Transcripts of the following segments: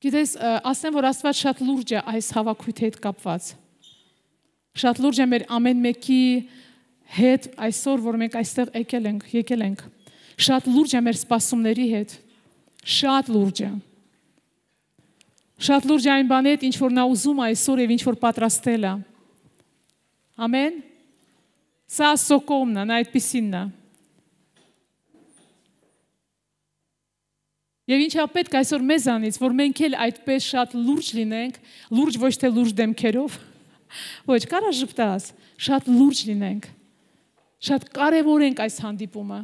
Գիտես, ասեմ, որ Աստված շատ լուրջ է այս հավաքույթի հետ կապված։ Շատ լուրջ է մեր ամեն մեկի հետ այսօր, որ մենք այստեղ եկել ենք։ Շատ լուրջ է մեր սպասումների հետ։ Շատ լուրջ է։ Շատ լուրջ է այն բանի հետ, ինչ որ նա ուզում է այսօր եւ ինչ որ պատրաստել է։ Ամեն։ Սա սոկոմն է, նա այդպիսինն է։ Եվ ինչա պետք այսօր մեզանից, որ մենք էլ այդպես շատ լուրջ լինենք, լուրջ ոչ թե լուրջ դեմքերով, ոչ, կարա ժպտաս, շատ լուրջ լինենք, շատ կարևորենք այս հանդիպումը,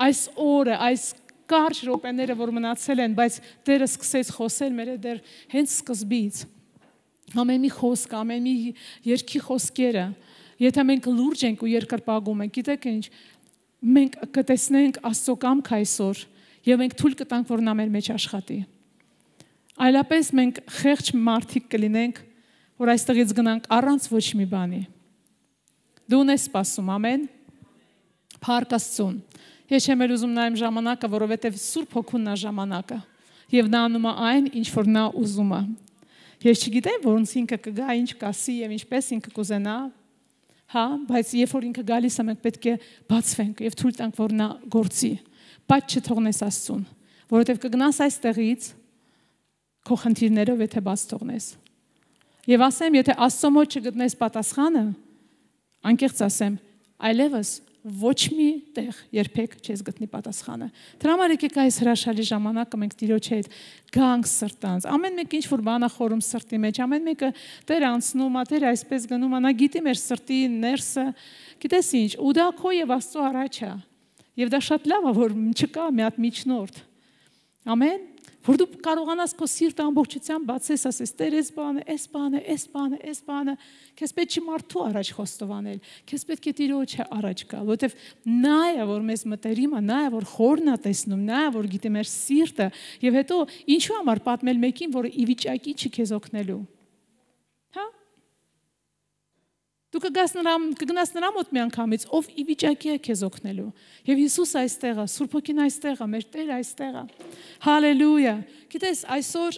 այս օրը, այս կարճ րոպեները, որ մնացել են, բայց Տերը սկսեց խոսել մեր հետ դեռ հենց սկզբից, ամեն մի խոսք, ամեն մի երգի խոսքերը, եթե մենք լուրջ ենք ու երկրպագում ենք, գիտեք ինչ, մենք կտեսնենք Աստծո կամքը այսօր, եւ մենք թույլ կտանք, որ նա մեր մեջ աշխատի։ Այլապես մենք խեղճ մարդիկ կլինենք, որ այստեղից գնանք առանց ոչ մի բանի։ Դու ունես սպասում, ամեն։ Փառք Աստծուն։ Ես չեմ ուզում նայեմ ժամանակը, որովհետեւ Սուրբ Հոգուն նա ժամանակը, եւ նա անում է այն, ինչ որ նա ուզում է։ Ես չգիտեմ, ոնց ինքը կգա, ինչ կասի եւ ինչպես ինքը կուզենա, հա, բայց երբ որ ինքը գալիս է, մենք պետք է բացվենք եւ թույլ տանք, որ նա գործի։ Բայց չթողնես Աստծուն, որովհետև կգնաս այստեղից քո խնդիրներով, եթե բաց թողնես։ Եվ ասեմ, եթե Աստծո մոտ չգտնես պատասխանը, անկեղծ ասեմ, այլևս ոչ մի տեղ երբեք չես գտնի պատասխանը։ Դրա համար եկեք այս հրաշալի ժամանակը մենք Տիրոջ հետ գանք սրտանց։ Ամեն մեկ ինչ որ բան է խորում սրտի մեջ, ամեն մեկը Տեր անցնում է, Տեր այսպես գնում է, նա գիտի մեր սրտի ներսը, գիտես ինչ, ու դա քո եւ Աստծո առաջ է։ Եվ դա շատ լավ է, որ չկա մի հատ միջնորդ։ Ամեն, որ դու կարողանաս քո սիրտը ամբողջությամբ բացես, ասես, Տեր, այս բանը, քեզ պետք չի մարդու առաջ խոստովանել, քեզ պետք է Տիրոջ առաջ գալ, որովհետև նա է, որ մեզ մտերիմ է, նա է, որ խորն է տեսնում, նա է, որ գիտի մեր սիրտը, եւ հետո ինչու համար պատմել մեկին, որը ի վիճակի չի քեզ օգնելու։ Հա? Դու կգնաս նրա մոտ մի անգամից, ով ի վիճակի է քեզ օգնելու։ Եվ Հիսուս այստեղ է, Սուրբ Հոգին այստեղ է, մեր Տերը այստեղ է։ Հալելույա։ Գիտես, այսօր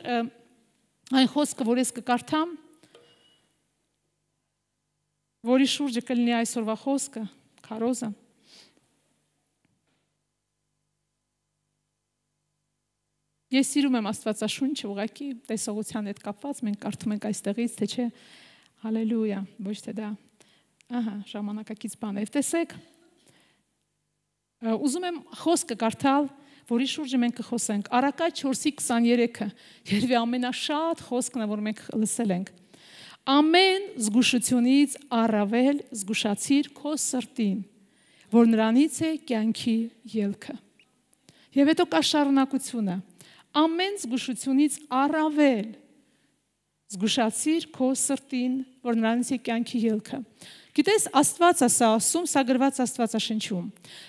այն խոսքը, որ ես կկարդամ, որի շուրջը կլինի այսօրվա խոսքը, քարոզը։ Ես սիրում եմ Աստվածաշունչը, ուղղակի տեսողության հետ կապված, մենք կարդում ենք այստեղից, թե չէ։ Հալելույա, ոչ թե դա, ժամանակակից բան է, տեսեք, ուզում եմ խոսքը կարդալ, որի շուրջը մենք կխոսենք, Առակաց 4:23-ը, երևի ամենաշատ խոսքն է, որ մենք լսել ենք, ամեն զգուշությունից առավել զգուշացիր քո սրտին, որ նրանից է կյանքի ելքը, եւ հետո կա շարունակությունը, ամեն զգուշությունից առավել զգուշացիր քո սրտին, որ նրանից է կյանքի ելքը։ Գիտես, Աստված է սա ասում, սա գրված Աստվածաշնչում։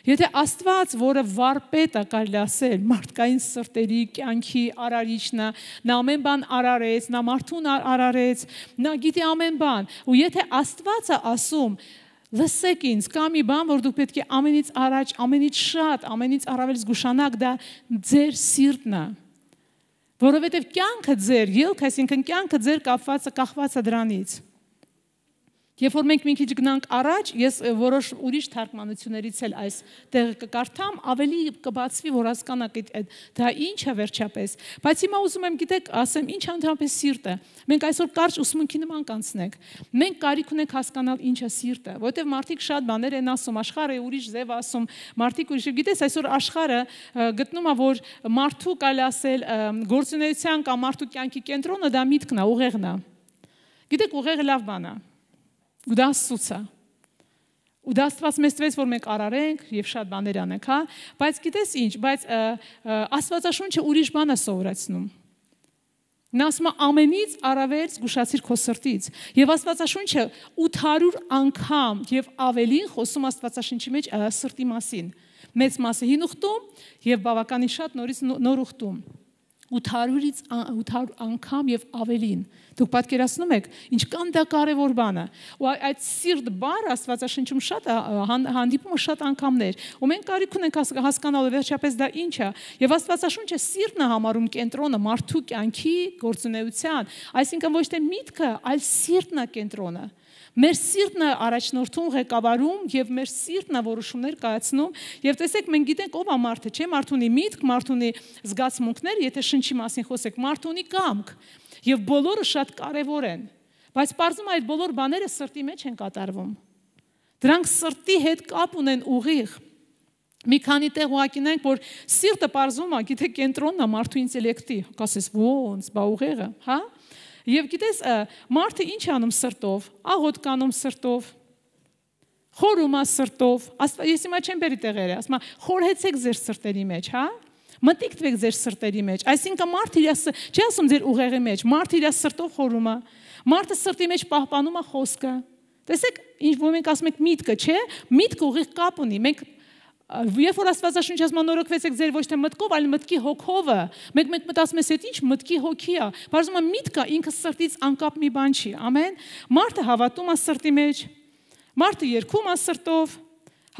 Եթե Աստված, որը վարպետ է, կարելի ասել, մարդկային սրտերի, կյանքի արարիչն է, նա ամեն բան արարեց, նա մարդուն արարեց, նա գիտի ամեն բան։ Ու եթե Աստված է ասում, լսեք ինձ, կա մի բան, որ դուք պետք է ամենից առաջ, ամենից շատ, ամենից առավել զգուշանաք, դա ձեր սիրտն է։ Որովհետև կյանքը ձեր, ելքը, այսինքն կյանքը ձեր կախված է դրանից։ Երբ որ մենք մի քիչ գնանք առաջ, ես որոշ ուրիշ թարգմանություններից էլ այս տեղը կկարդամ, ավելի կբացվի, որ հասկանաք դա ինչ է վերջապես։ Բայց հիմա ուզում եմ, գիտեք, ասեմ, ինչ ընդհանրապես սիրտ է։ Մենք այսօր կարճ ուսմունքի նման կանցնենք։ Մենք կարիք ունենք հասկանալ ինչ է սիրտը, որովհետև մարդիկ շատ բաներ են ասում, աշխարհը ուրիշ ձև ասում, մարդիկ ուրիշ, գիտես, այսօր աշխարհը գտնում է, որ մարդու կարելի ասել գործունեության կամ մարդու կյանքի կենտրոնը դա միտքն է, ուղեղն է։ Գիտեք, ուղեղը լավ բան է։ Ու դա Աստծուց է։ Ու դա Աստված մեզ տվեց, որ մենք արարենք եւ շատ բաներ անենք, հա, բայց գիտես ինչ, բայց Աստվածաշունչը ուրիշ բան է սովորեցնում։ Նա ասում է ամենից առավել զգուշացիր քո սրտից։ Եվ Աստվածաշունչը 800 անգամ եւ ավելին խոսում Աստվածաշնչի մեջ սրտի մասին։ Մեծ մասը հին ուխտում եւ բավականին շատ նորից նոր ուխտում։ 800-ից 800 անգամ եւ ավելին։ Դուք պատկերացնում եք, ինչքան դա կարևոր բան է։ Ու այդ սիրտ բառը Աստվածաշնչում շատ հանդիպում է շատ անգամներ։ Ու մենք կարիք ունենք հասկանալու վերջապես դա ինչ է։ Եվ Աստվածաշունչը սիրտն է համարում կենտրոնը մարդու կյանքի գործունեության, այսինքն ոչ թե միտքը, այլ սիրտն է կենտրոնը։ Մեր սիրտն է առաջնորդում, ղեկավարում եւ մեր սիրտն է որոշումներ կայացնում եւ տեսեք մենք գիտենք ով է մարդը, չէ՞, մարդ ունի միտք, մարդ ունի զգացմունքներ, եթե շնչի մասին խոսեք, մարդ ունի կամք եւ բոլորը շատ կարեւոր են, բայց բարձում այդ բոլոր բաները սրտի մեջ են կատարվում։ Դրանք սրտի հետ կապ ունեն ուղիղ։ Մի քանի տեղ ուղակինենք, որ սիրտը բարձում է, գիտեք, կենտրոնն է մարդու ինտելեկտի, կասես ոնց, բա ուղեղը, հա? Եվ գիտես, մարդը ինչ անում սրտով, աղոտ կանում սրտով, խորում է սրտով, ես հիմա չեմ բերի տեղերը, ասում եմ, խորհեցեք ձեր սրտերի մեջ, հա, մտիկ տվեք ձեր սրտերի մեջ, այսինքն մարդը իր, չի ասում ձեր ուղեղի մեջ, մարդը իր սրտով խորում է, մարդը սրտի մեջ պահպանում է խոսքը, տեսեք, ինչ որ մենք ասում ենք միտքը, չէ, միտքը ուղիղ կապ ունի, մենք Երբ որ Աստվածաշունչը ասում նորոգվեցեք ձեր ոչ թե մտքով, այլ մտքի հոգովը, մենք մտածում ենք, այդ ինչ մտքի հոգի է, բարձում է միտքը ինքը սրտից անկապ մի բան չի, ամեն, մարդը հավատում է սրտի մեջ, մարդը երգում է սրտով,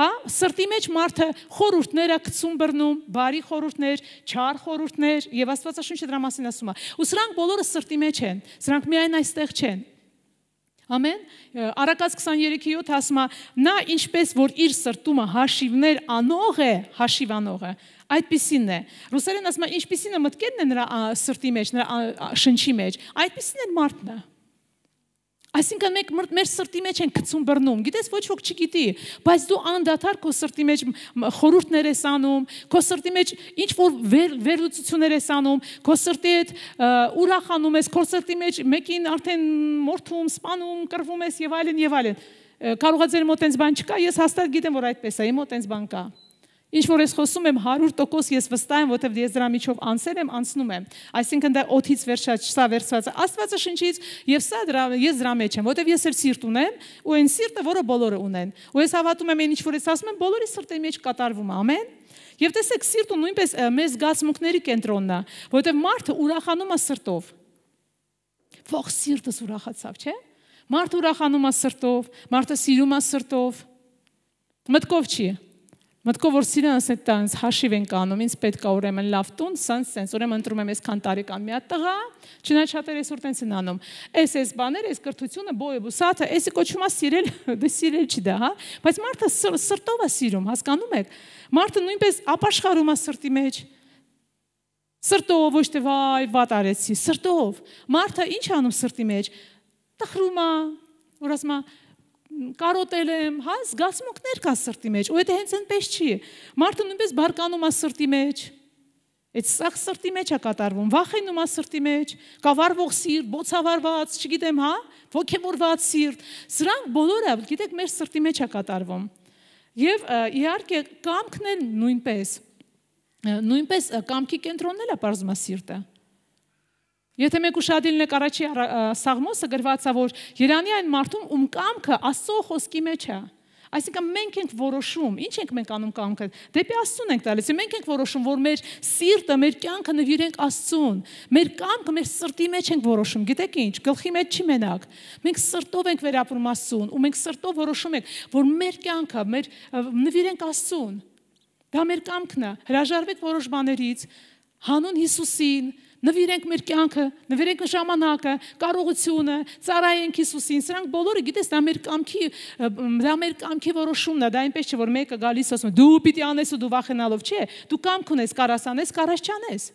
հա, սրտի մեջ մարդը խորհուրդներ է գցում բռնում, բարի խորհուրդներ, չար խորհուրդներ, եւ Աստվածաշունչը դրա մասին ասում է, ու սրանք բոլորը սրտի մեջ են, սրանք միայն այստեղ չեն։ Ամեն, Առակաց 23:7 ասում է, նա ինչպես որ իր սրտումը հաշիվներ անող է, հաշիվ անող է, այդպիսին է։ Ռուսերեն ասում է, ինչպիսին է մտքերն է նրա սրտի մեջ, նրա շնչի մեջ, այդպիսին է մարդն է։ Այսինքն մենք մեր սրտի մեջ են գցում բռնում, գիտես ոչ ոք չգիտի, բայց դու անդադար քո սրտի մեջ խորհուրդներ ես անում, քո սրտի մեջ ինչ որ վերլուծություններ ես անում, քո սրտի հետ ուրախանում ես, քո սրտի մեջ մեկին արդեն մորթում, սպանում, կռվում ես եւ այլն եւ այլն։ Կարող է ձեր մոտ այնպես բան չկա, ես հաստատ գիտեմ, որ այդպես է, իմ մոտ այնպես բան կա։ Ինչ որ ես խոսում եմ 100% ես վստահ եմ, որովհետև ես դրա միջով անցել եմ, անցնում եմ։ Այսինքն դա օդից վերջած, սա վերցված է Աստվածաշնչից եւ սա ես դրա մեջ եմ, որովհետև ես էլ սիրտ ունեմ, ու այն սիրտը, որը բոլորը ունեն։ Ու ես հավատում եմ այն ինչ որ ես ասում եմ, բոլորի սրտի մեջ կատարվում է, ամեն։ Եվ տեսեք, սիրտը նույնպես մեր զգացմունքների կենտրոնն է, որովհետև մարդը ուրախանում է սրտով։ Ող սիրտս ուրախացավ, չէ՞։ Մարդը ուրախանում է սրտով, մարդը սիրում է սրտով։ Մտքով չի։ Մտքով որ սիրան ասել տանց հաշիվ ենք անում, ինձ պետք է ուրեմն լավ տուն, սենց, ուրեմն ընտրում եմ այսքան տարեկան մի հատ տղա, չնայած շատերը այսօր տենց են անում։ Այս բաները, այս կրթությունը, բոյը, բուսաթը, էսի կոչվում է սիրել, դե սիրել չի դա, հա, բայց մարդը սրտով է սիրում, հասկանում եք։ Մարդը նույնպես ապաշխարում է սրտի մեջ։ Սրտով ոչ թե վայ, վատ արեցի, սրտով։ Մարդը ինչ անում սրտի մեջ։ Տխրում է, որ ասում է կարոտել եմ, հա, զգացմունքներ կա սրտի մեջ, ու դա հենց այնպես չի։ Մարդը նույնպես բարկանում է սրտի մեջ։ Այդ սա սրտի մեջ է կատարվում, վախենում է սրտի մեջ, կավարվող սիրտ, բոցավարված, չգիտեմ, հա, ոգևորված սիրտ։ Սրանք բոլորը, գիտեք, մեր սրտի մեջ է կատարվում։ Եվ իհարկե կամքն էլ նույնպես կամքի կենտրոնն էլ է բարձում է սիրտը։ Եթե մենք ուշադիր ենք առաջի Սաղմոսը գրված է, որ Երանի այն մարդում ում կամքը Աստծո խոսքի մեջ է։ Այսինքն մենք ենք որոշում, ինչ ենք մենք անում կամքը, դեպի Աստծուն ենք տալիս, մենք ենք որոշում, որ մեր սիրտը, մեր կյանքը նվիրենք Աստծուն, մեր կամքը մեր սրտի մեջ ենք որոշում, գիտեք ինչ, գլխի մեջ չի մենակ, մենք սրտով ենք վերապրում Աստծուն, ու մենք սրտով որոշում ենք, որ մեր կյանքը նվիրենք Աստծուն, դա մեր կամքն է, հրաժարվեք որոշ բաներից, հանուն Հիսուսին, նվիրենք մեր կյանքը, նվիրենք ժամանակը, կարողությունը, ծառայենք Հիսուսին, սրանք բոլորը գիտես, դա մեր կամքի որոշումն է, դա այնպես չէ, որ մեկը գալիս ասում է, դու պիտի անես ու դու վախենալով, չէ, դու կամք ունես, կարաս անես, կարաս չանես։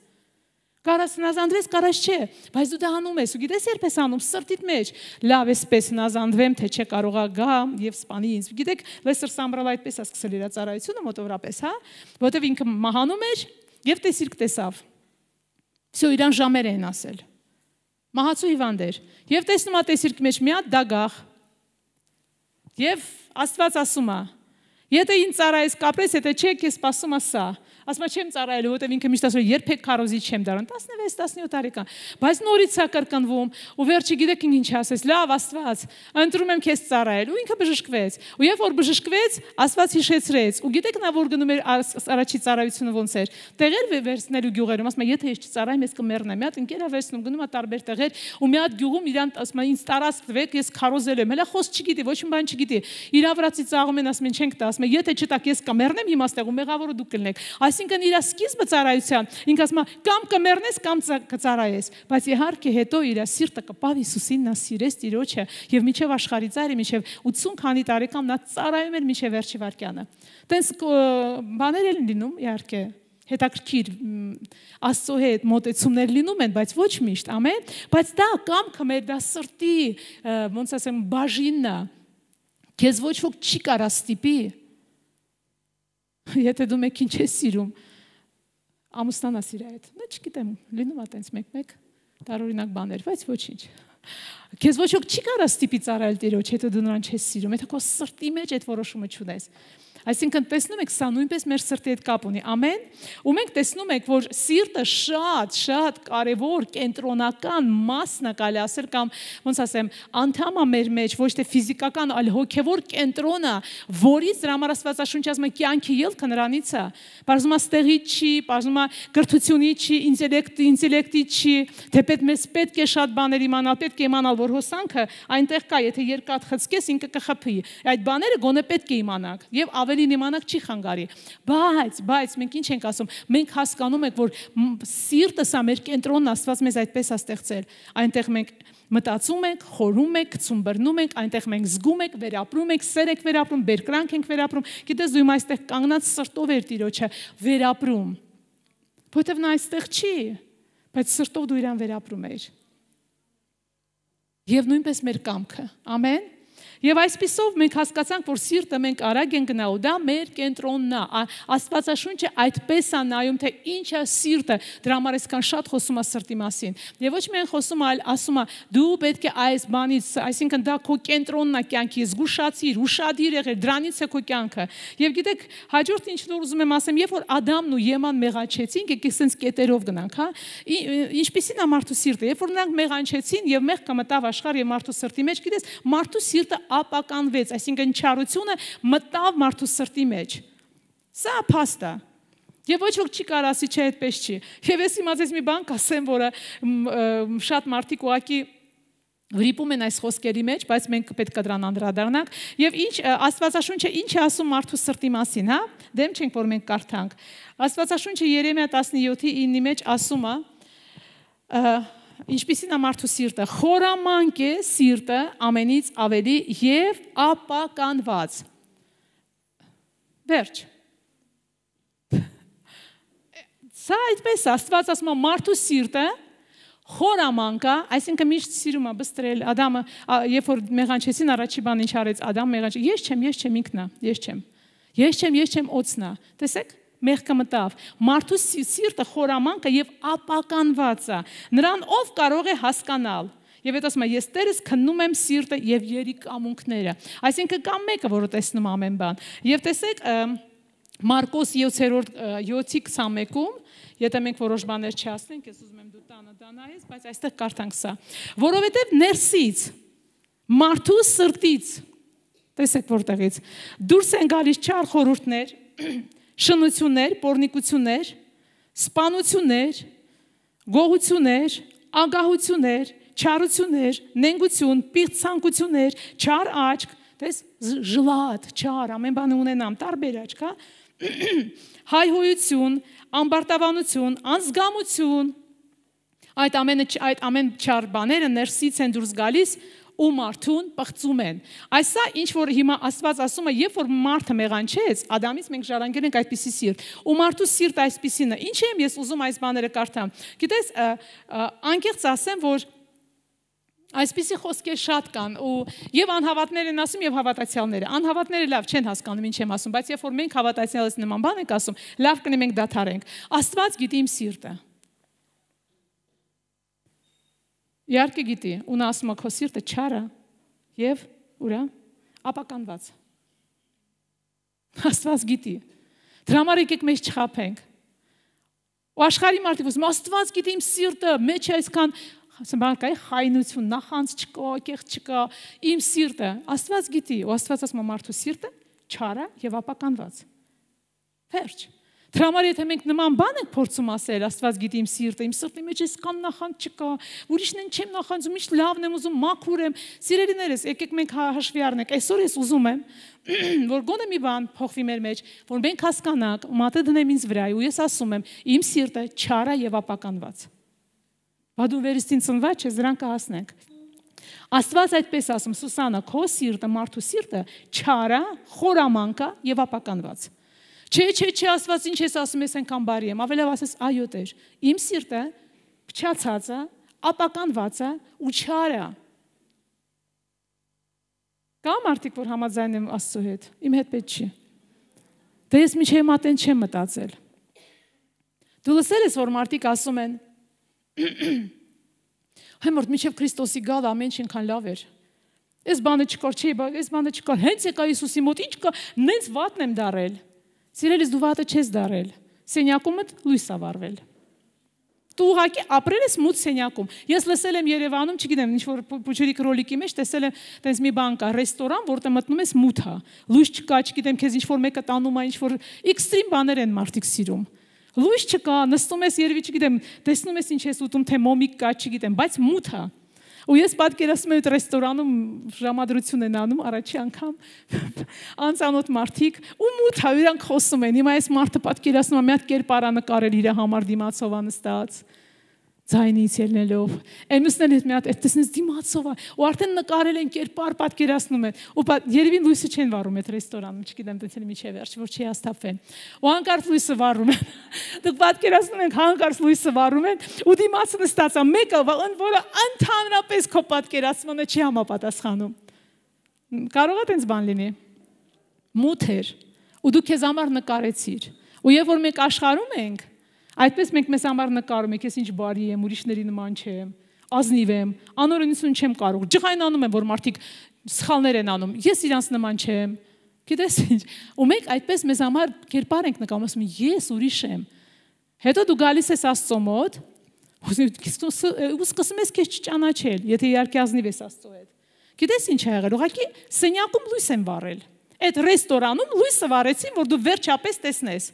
Կարաս հնազանդվես, կարաս չէ, բայց դու դա անում ես, ու գիտես երբ ես անում, սրտիդ մեջ, լավ էսպես հնազանդվեմ, թե չէ կարողա գա եւ սպանի ինձ։ Գիտեք, Լեսեր Սամբրալը այդպես է սկսել իր ծառայությունը մոտավորապես, հա, որովհետեւ ինքը մահանում էր եւ տեսիրք տեսավ։ Всё իրան ժամեր են ասել։ Մահացու հիվանդ էր։ Եվ տեսնում է տեսիրքի մեջ մի հատ դագաղ։ Եվ Աստված ասում է. եթե ինձ ծառայես կապրես, եթե չէ, քեզ սպասում է սա։ ասում եմ չեմ ծառայելու, որտեղ ինքը միշտ ասում է երբեք քարոզի չեմ դառնում, 16-17 տարեկան, բայց նորից է կրկնվում, ու վերջի գիտեք ինչ ասես, լավ Աստված, ընտրում եմ քեզ ծառայել, ու ինքը բժշկվեց, ու երբ որ բժշկվեց, Աստված հիշեցրեց, ու գիտեք նա որ գնում էր առաջի ծառայությունը ոնց էր, տեղեր վերցնելու գյուղերում, ասում է եթե ես չծառայեմ, ես կմեռնեմ, մի հատ ընկեր է վերցնում, գնում է տարբեր տեղեր, ու մի հատ գյուղում իրան ասում է ինձ տարած տվեք, ես քարոզել եմ, հələ խոսք չգիտի, ոչ մի բան չգիտի, իր վրացի ծաղում են, ասում են չենք տա, ասում է եթե չտակ ես կմեռնեմ հիմա ստեղ ու մեղավորը դուք կլնեք, այսինքն իր սկիզբը ծառայության, ինքը ասում է կամ կմեռնես կամ կծառայես, բայց իհարկե հետո իր սիրտը կպավ Հիսուսին, նա սիրեց Տիրոջը եւ միջև աշխարհի ծայրը, միջև 80 քանի տարեկան նա ծառայում էր միջև վերջի վայրկյանը։ Տենց բաներ են լինում, իհարկե, հետաքրքիր Աստծո հետ մոտեցումներ լինում են, բայց ոչ միշտ, ամեն, բայց դա կամքը մեր դա սրտի, ոնց ասեմ, բաժինն է։ Քեզ ոչ ոք չի կարա ստիպի։ Եթե դու մեկին չես սիրում, ամուսնանաս իր հետ։ Դա չգիտեմ, լինում է տենց մեկ-մեկ տարօրինակ բաներ, բայց ոչինչ։ Քեզ ոչ ոք չի կարա ստիպի ծառայել Տիրոջ, եթե դու նրան չես սիրում, եթե քո սրտի մեջ այդ որոշումը չունես։ Այսինքն տեսնում եք, սա նույնպես մեր սրտի հետ կապ ունի, ամեն, ու մենք տեսնում ենք, որ սիրտը շատ կարևոր կենտրոնական մասն է կարելի ասել կամ ոնց ասեմ, անդամ է մեր մեջ, ոչ թե ֆիզիկական, այլ հոգևոր կենտրոնը, որից դրա համար Աստվածաշունչը ասում է կյանքի ելքը նրանից է, բարձում է ստեղի չի, բարձում է կրթությունի չի, ինտելեկտի չի, թեպետ մեզ պետք է շատ բաներ իմանալ, պետք է իմանալ, որ հոսանքը այնտեղ կա, եթե երկաթ խցկես, ինքը կխփի, այդ բաները գոնե պետք է իմանանք եւ ավելին իմանանք չի խանգարի, բայց մենք ինչ ենք ասում, մենք հասկանում ենք, որ սիրտը սա մեր կենտրոնն Աստված մեզ այդպես է ստեղծել, այնտեղ մենք մտածում ենք, խորում ենք, գցում բռնում ենք, այնտեղ մենք զգում ենք, վերապրում ենք, սեր ենք վերապրում, բերկրանք ենք վերապրում, գիտես դու իմ այստեղ կանգնած սրտով էր Տիրոջը վերապրում, որովհետև նա այստեղ չի, բայց սրտով դու իրան վերապրում ես։ Եվ նույնպես մեր կամքը, ամեն։ Եվ այսպիսով մենք հասկացանք, որ սիրտը մենք արագ ենք գնալու, դա մեր կենտրոնն է, Աստվածաշունչը այդպես է նայում, թե ինչ է սիրտը, դրա համար այսքան շատ խոսում է սրտի մասին։ Եվ ոչ միայն խոսում, այլ ասում է, դու պետք է այս բանից, այսինքն դա քո կենտրոնն է կյանքի, զգուշացիր, ուշադիր եղիր, դրանից է քո կյանքը։ Եվ գիտեք, հաջորդ ինչ որ ուզում եմ ասեմ, երբ որ Ադամն ու Եվան մեղանչեցին, եկեք սենց կետերով գնանք, հա, ինչպիսին է մարդու սիրտը, երբ որ նրանք մեղանչեցին եւ մեղքը մտավ աշխարհ եւ մարդու սրտի մեջ, գիտես, մարդու սիրտը ապականվեց, այսինքն չարությունը մտավ մարդու սրտի մեջ։ Սա փաստ է։ Եվ ոչ ոք չի կարող ասի, չէ, այդպես չի։ Եվ ես իմացած մի բան կասեմ, որը շատ մարդիկ ուղղակի վրիպում են այս խոսքերի մեջ, բայց մենք պետք է դրան անդրադառնանք։ Եվ ինչ Աստվածաշունչը ինչ է ասում մարդու սրտի մասին, հա? Դեմ չենք, որ մենք կարդանք։ Աստվածաշունչը Երեմիա 17:9-ի մեջ ասում է. Ինչպիսին է մարդու սիրտը, խորամանկ է սիրտը ամենից ավելի եւ ապականված։ Վերջ։ Սա այդպես Աստված ասում է մարդու սիրտը խորամանկ է, այսինքն միշտ սիրում է բստրել Ադամը, երբ որ մեղանչեցին առաջի բան ինչ արեց Ադամ մեղանչ, ես չեմ ինքն է, ես չեմ օծն է, տեսեք մեղքը մտավ, մարդու սիրտը խորամանկ է եւ ապականված է, նրան ով կարող է հասկանալ։ Եվ այդ ասում է, ես Տերս քննում եմ սիրտը եւ երիկամունքները, այսինքն կամ մեկը, որը տեսնում ամեն բան։ Եվ տեսեք Մարկոս 7:21-ում, եթե մենք որոշ բաներ չասենք, ես ուզում եմ դու տանը դանայես, բայց այստեղ կարդանք սա, որովհետև ներսից, մարդու սրտից, տեսեք որտեղից, դուրս են գալիս չար խորհուրդներ, շնություններ, պոռնիկություններ, սպանություններ, գողություններ, ագահություններ, չարություններ, նենգություն, պիղծ չար աչք, տես ժլատ, չար, ամեն բանը ունենամ, տարբեր աչք, հա, հայհոյություն, ամբարտավանություն, անզգամություն, այդ ամեն չար բաները ներսից են դուրս գալիս ու մարդուն պղծում են։ Այսա ինչ որ հիմա Աստված ասում է, երբ որ մարդը մեղանչեց, Ադամից մենք ժառանգել ենք այդպիսի սիրտ, ու մարդու սիրտը այսպիսին է։ Ինչ եմ ես ուզում այս բաները կարդամ։ Գիտես, անկեղծ ասեմ, որ այսպիսի խոսքեր շատ կան ու եւ անհավատներ են ասում եւ հավատացյալները։ Անհավատները լավ չեն հասկանում ինչ եմ ասում, բայց երբ որ մենք հավատացյալից նման բան ենք ասում, լավ կնենք մենք դադարենք։ Աստված գիտի իմ սիրտը։ Իհարկե գիտի, ու նա ասում է քո սիրտը չար է եւ ուրա ապականված։ Աստված գիտի։ Դրա համար եկեք մեզ չխաբենք։ Ու աշխարհի մարդիկ ասում Աստված գիտի իմ սիրտը, մեջ է այսքան բանկայի խայնություն, նախանց չկա, կեղծ չկա, իմ սիրտը, Աստված գիտի, ու Աստված ասում է մարդու սիրտը չար է եւ ապականված։ Վերջ։ Դրա համար եթե մենք նման բան ենք փորձում ասել, Աստված գիտի իմ սիրտի մեջ այսքան նախանց չկա, ուրիշն են չեմ նախանձում, միշտ լավն եմ ուզում, մաքուր եմ։ Սիրելիներս, եկեք մենք հաշվի առնենք, այսօր ես ուզում եմ, որ գոնե մի բան փոխվի մեր մեջ, որ մենք հասկանանք, մատը դնեմ ինձ վրա, ու ես ասում եմ, իմ սիրտը չար է եւ ապականված։ Բա դու վերստին ծնված ես, դրան կհասնենք։ Աստված այդպես ասում, Սուսանա, քո սիրտը, մարդու սիրտը չար է, խորամանկ է եւ ապականված։ Չէ, Աստված ինչ ես ասում, ես այնքան բարի եմ, ավելավ ասես, այո Տեր, իմ սիրտը փչացած է, ապականված է ու չար է։ Կա մարդիկ, որ համաձայն եմ Աստծո հետ, իմ հետ պետք չի։ Դե ես միջև մատեն չեմ մտածել։ Դու լսել ես, որ մարդիկ ասում են, Հիմորդ միջև Քրիստոսի գալ ամեն ինչ ինքան լավ էր։ Այս բանը չկար, չէ, այս բանը չկար, հենց եկա Հիսուսի մոտ, ինչ կա, նենց վատն եմ դարել։ Սիրելիս դու վատը չես դարել, սենյակումդ լույս ա վառվել։ Դու ուղղակի ապրել ես մութ սենյակում։ Ես լսել եմ Երևանում, չգիտեմ, ինչ որ փուչուրիկ ռոլիկի մեջ տեսել եմ, տենց մի բան կա, ռեստորան, որտեղ մտնում ես մութ է։ Լույս չկա, չգիտեմ, քեզ ինչ որ մեկը տանում է, ինչ որ էքստրիմ բաներ են մարդիկ սիրում։ Լույս չկա, նստում ես երևի, չգիտեմ, տեսնում ես ինչ ես ուտում, թե մոմիկ կա, չգիտեմ, բայց մութ է։ Ու ես պատկերացնում եմ այդ ռեստորանում ժամադրություն են անում առաջի անգամ անծանոթ մարդիկ ու մութ է, իրանք խոսում են։ Հիմա այս մարդը պատկերացնում է մի հատ կերպարա նկարել իր համար դիմացով անստած։ Ձայնից ելնելով, Էմուսն հետ մի հատ այդտեսնից դիմացով է, ու արդեն նկարել են կերպար պատկերացնում են, ու երևի լույսը չեն վառում այդ ռեստորանում, չգիտեմ, դեցել միջև վերջ, որ չի հաստատվեն։ Ու հանկարծ լույսը վառում են։ Դուք պատկերացնում եք, հանկարծ լույսը վառում են, ու դիմացը նստած է, մեկը, որը ընդհանրապես քո պատկերացմանը չի համապատասխանում։ Կարող է տենց բան լինի։ Մութ էր, ու դու քեզ համար նկարեցիր։ Ու երբ որ մենք աշխարհում ենք, այդպես մենք մեզ համար նկարում ենք, ես ինչ բարի եմ, ուրիշների նման չեմ, ազնիվ եմ, անօրենություն չեմ կարող, ջղայնանում եմ, որ մարդիկ սխալներ են անում, ես իրանց նման չեմ, գիտես ինչ, ու մենք այդպես մեզ համար կերպար ենք նկարում, ասում ես ուրիշ եմ, հետո դու գալիս ես Աստծո մոտ, ու սկսում ես քեզ չճանաչել, եթե իհարկե ազնիվ ես Աստծո հետ, գիտես ինչ ա եղել, ուղղակի սենյակում լույս են վառել, այդ ռեստորանում լույսը վառեցին, որ դու վերջապես տեսնես։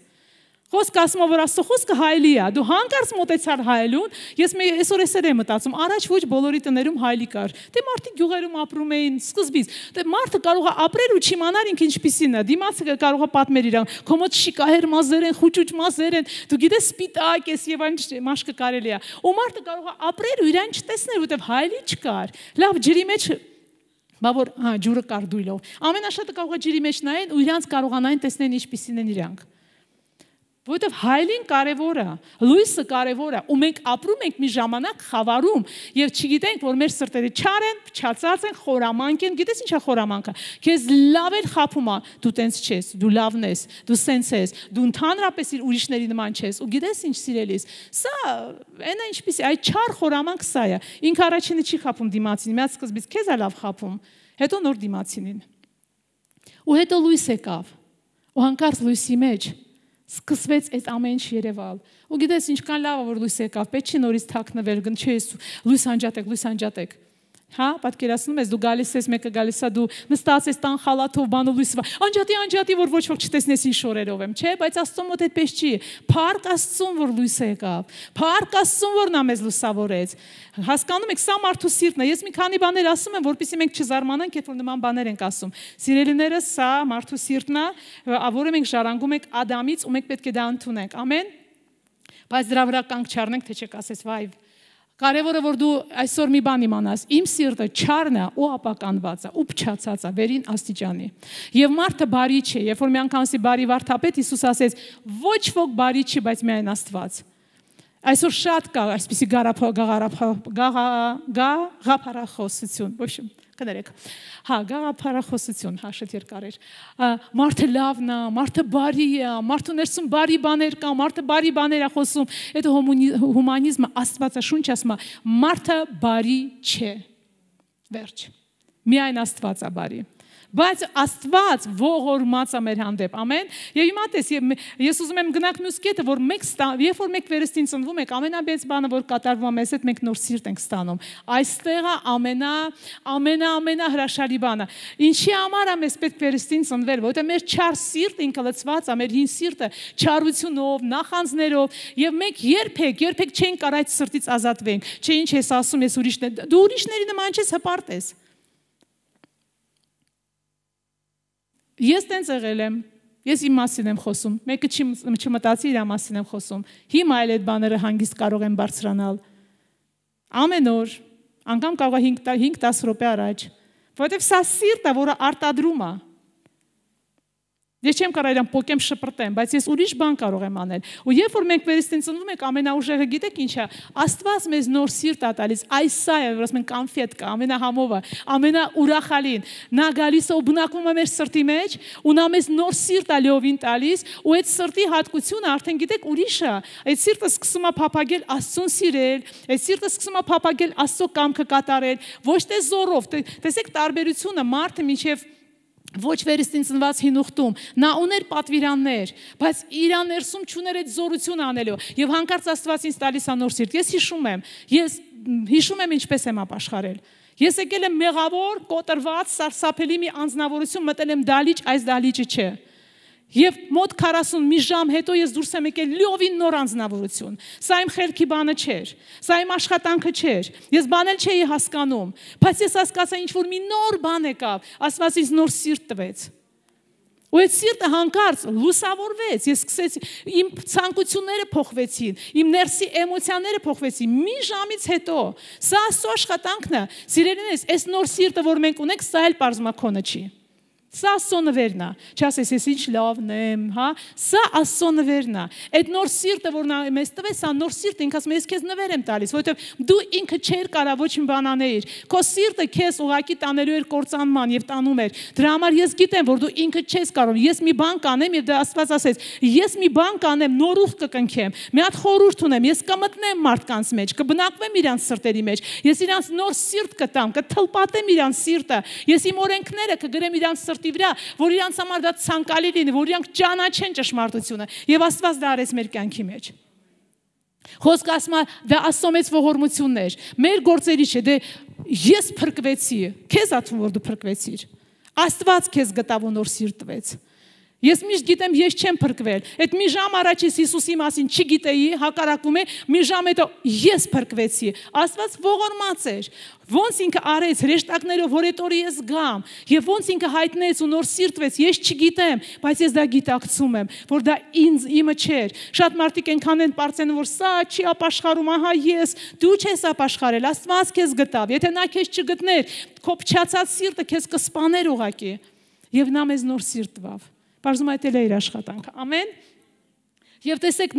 Խոսքը ասում է, որ Աստծո խոսքը հայելի է։ Դու հանկարծ մոտեցար հայելուն, ես այսօր էսեր եմ մտածում, առաջ ոչ բոլորի տներում հայելի կար։ Դե մարդիկ գյուղերում ապրում էին սկզբից։ Դե մարդը կարող է ապրել ու չիմանալ ինքը ինչպիսին է։ Դիմացը կարող է պատմել իրան, քո մոտ շիկահեր մազեր են, խուճուճ մազեր են, դու գիտես սպիտակ ես եւ այն մաշկը կարելի է։ Ու մարդը կարող է ապրել ու իրան չտեսնել, որովհետեւ հայելի չկար։ Լավ, ջրի մեջ բա որ ջուրը կար դույլով։ Ամենաշատը կարող է ջրի մեջ նայեն ու իրանց կարողանային տեսնեն ինչպիսին են իրանք։ Որովհետև հայելին կարևոր է, լույսը կարևոր է, ու մենք ապրում ենք մի ժամանակ խավարում եւ չգիտենք, որ մեր սրտերը չար են, փչացած են, խորամանկ են, գիտես ինչա խորամանքը։ Քեզ լավ էլ խափում է, դու տենց չես, դու լավն ես, դու սենց ես, դու ընդհանրապես ուրիշների նման չես, ու գիտես ինչ սիրելիս։ Սա այնա ինչպիսի, այդ չար խորամանք սա է։ Ինքը առաջինը չի խափում դիմացին, միած սկզբից քեզ է լավ խափում, հետո նոր դիմացինին։ Ու հետո լույս եկավ։ Ու հանկարծ լույսի մեջ սկսվեց այդ ամեն ինչ երևալ։ Ու գիտես ինչքան լավ է որ լույս եկավ, պետք չի նորից թաքնվել, գնչես լույս անջատեք։ Հա, պատկերացնում ես, դու գալիս ես, մեկը գալիս է, դու նստած ես տան խալաթով, բանով լույսը, անջատի, որ ոչ ոք չտեսնես ինչ շորերով եմ, չէ, բայց Աստծո մոտ այդպես չի։ Փառք Աստծուն, որ լույսը եկավ։ Փառք Աստծուն, որ նա մեզ լուսավորեց։ Հասկանում եք, սա մարդու սիրտն է։ Ես մի քանի բաներ ասում եմ, որպեսզի մենք չզարմանանք, երբ որ նման բաներ ենք ասում։ Սիրելիները, սա մարդու սիրտն է, որը մենք ժառանգում ենք Ադամից, ու մենք պետք է դա ընդունենք։ Ամեն։ Բայց դրա վրա կանգ չառնենք, թե չեք ասես, վայ, կարևորը որ դու այսօր մի բան իմանաս, իմ սիրտը չարն է ու ապականված է, ու փչացած է վերին աստիճանի։ Եվ մարդը բարի չէ, երբ որ մի անգամ ասի բարի վարդապետ, Հիսուս ասեց, ոչ ոք բարի չի, բայց միայն Աստված։ Այսօր շատ կա այսպիսի գաղափարախոսություն, ոչ կներեք։ Հա, գաղափարախոսություն, հա, շատ երկար էր։ Մարդը լավն է, մարդը բարի է, մարդու ներսում բարի բաներ կա, մարդը բարի բաներ է խոսում։ Այդ հումանիզմը Աստվածաշունչ ասում է, մարդը բարի չէ։ Վերջ։ Միայն Աստված է բարի։ Բայց Աստված ողորմած է մեր հանդեպ, ամեն։ Եվ հիմա տես, ես ուզում եմ գնանք մյուս կետը, որ երբ որ մեկ վերստին ծնվում եք, ամենաբեծ բանը, որ կատարվում է մեզ հետ, մենք նոր սիրտ ենք ստանում։ Այստեղ ամենա հրաշալի բանը։ Ինչի համար է մեզ պետք վերստին ծնվել, որովհետև մեր չար սիրտը ինքը լցված է, մեր հին սիրտը չարությունով, նախանձներով, եւ մենք երբեք չենք կարող այդ սրտից ազատվենք։ Չէ, ինչ ես ասում, ես ուրիշներ, դու ուրիշների նման չես, հպարտ ես։ Ես տենց եղել եմ, ես իմ մասին եմ խոսում, մեկը չմտածի իր մասին եմ խոսում, հիմա էլ այդ բաները հանգիստ կարող են բարձրանալ, ամեն օր, անգամ կարող է 5-10 րոպե առաջ, որովհետև սա սիրտ է, որը արտադրում է, ես չեմ կարող իրան պոկեմ շպրտեմ, բայց ես ուրիշ բան կարող եմ անել, ու երբ որ մենք վերստին ծնվում ենք, ամենաուժեղը գիտեք ինչ է, Աստված մեզ նոր սիրտ է տալիս, այս սա է, որ ասում են կոնֆետկա, ամենահամովը, ամենաուրախալին, նա գալիս է ու բնակվում է մեր սրտի մեջ, ու նա մեզ նոր սիրտ է լիովին տալիս, ու այդ սրտի հատկությունը արդեն գիտեք ուրիշ է, այդ սիրտը սկսում է փափագել Աստծուն սիրել, այդ սիրտը սկսում է փափագել Աստծո կամքը կատարել, ոչ թե զորով, տեսեք տարբերությունը մարդը միջև ոչ վերստին ծնված հինուխտում, նա ուներ պատվիրաններ, բայց իր ներսում չուներ այդ զորությունը անելու, եւ հանկարծ Աստված ինձ տալիս է նոր սիրտ, ես հիշում եմ ինչպես եմ ապաշխարել, ես եկել եմ մեղավոր, կոտրված, սարսափելի մի անձնավորություն, մտել եմ դալիճ, այս դալիճը չէ, եւ մոտ 40 մի ժամ հետո ես դուրս եմ եկել լիովին նոր անձնավորություն, սա իմ խելքի բանը չէր, սա իմ աշխատանքը չէր, ես բանել չէի հասկանում, բայց ես հասկացա ինչ որ մի նոր բան եկավ, Աստված ինձ նոր սիրտ տվեց, ու այդ սիրտը հանկարծ լուսավորվեց, ես սկսեցի, իմ ցանկությունները փոխվեցին, իմ ներսի էմոցիաները փոխվեցին, մի ժամից հետո, սա Աստծո աշխատանքն է, սիրելիներս, այս նոր սիրտը, որ մենք ունենք, սա էլ պարզմակոնը չի, սա Աստծո նվերն է, չասես ես ինչ լավն եմ, հա, սա Աստծո նվերն է, այդ նոր սիրտը, որ նա մեզ տվեց, սա նոր սիրտը, ինքը ասում է, ես քեզ նվեր եմ տալիս, որովհետև դու ինքը չեր կարա ոչ մի բան անեիր, քո սիրտը քեզ ուղակի տանելու էր կործանման եւ տանում էր, դրա համար ես գիտեմ, որ դու ինքը չես կարող, ես մի բան կանեմ եւ դա Աստված ասեց, ես մի բան կանեմ, նոր ուխ կկնքեմ, մի հատ խորհուրդ ունեմ, ես կմտնեմ մարդկանց մեջ, կբնակվեմ իրանց սրտերի մեջ, ես իրանց նոր սիրտ կտամ, կթլպատեմ իրանց սիրտը, ես իմ օրենքները կգրեմ իրանց սրտի վրա, որ իրանց համար դա ցանկալի լինի, որ իրանք ճանաչեն ճշմարտությունը, եւ Աստված դա արեց մեր կյանքի մեջ։ Խոսքը ասում է, դա Աստծո մեծ ողորմությունն էր, մեր գործերի չէ, դե ես փրկվեցի, քեզ աթվում որ դու փրկվեցիր, Աստված քեզ գտավ ու նոր սիրտ տվեց։ Ես միշտ գիտեմ, ես չեմ փրկվել։ Այդ մի ժամ առաջ ես Հիսուսի մասին չգիտեի, հակառակում է, մի ժամ հետո ես փրկվեցի։ Աստված ողորմած էր։ Ոնց ինքը արեց հրեշտակներով, որ այդ օրը ես գամ, եւ ոնց ինքը հայտնեց ու նոր սիրտվեց, ես չգիտեմ, բայց ես դա գիտակցում եմ, որ դա իմը չէր։ Շատ մարդիկ այնքան են պարծեն, որ սա չի ապաշխարում, ահա ես, դու չես ապաշխարել, Աստված քեզ գտավ։ Եթե նա քեզ չգտներ, քո փչացած սիրտը քեզ կսպաներ ուղակի։ Եվ նա մեզ նոր սիրտ տվավ։ Բարձում այդ էլ է իր աշխատանքը, ամեն, և տեսեք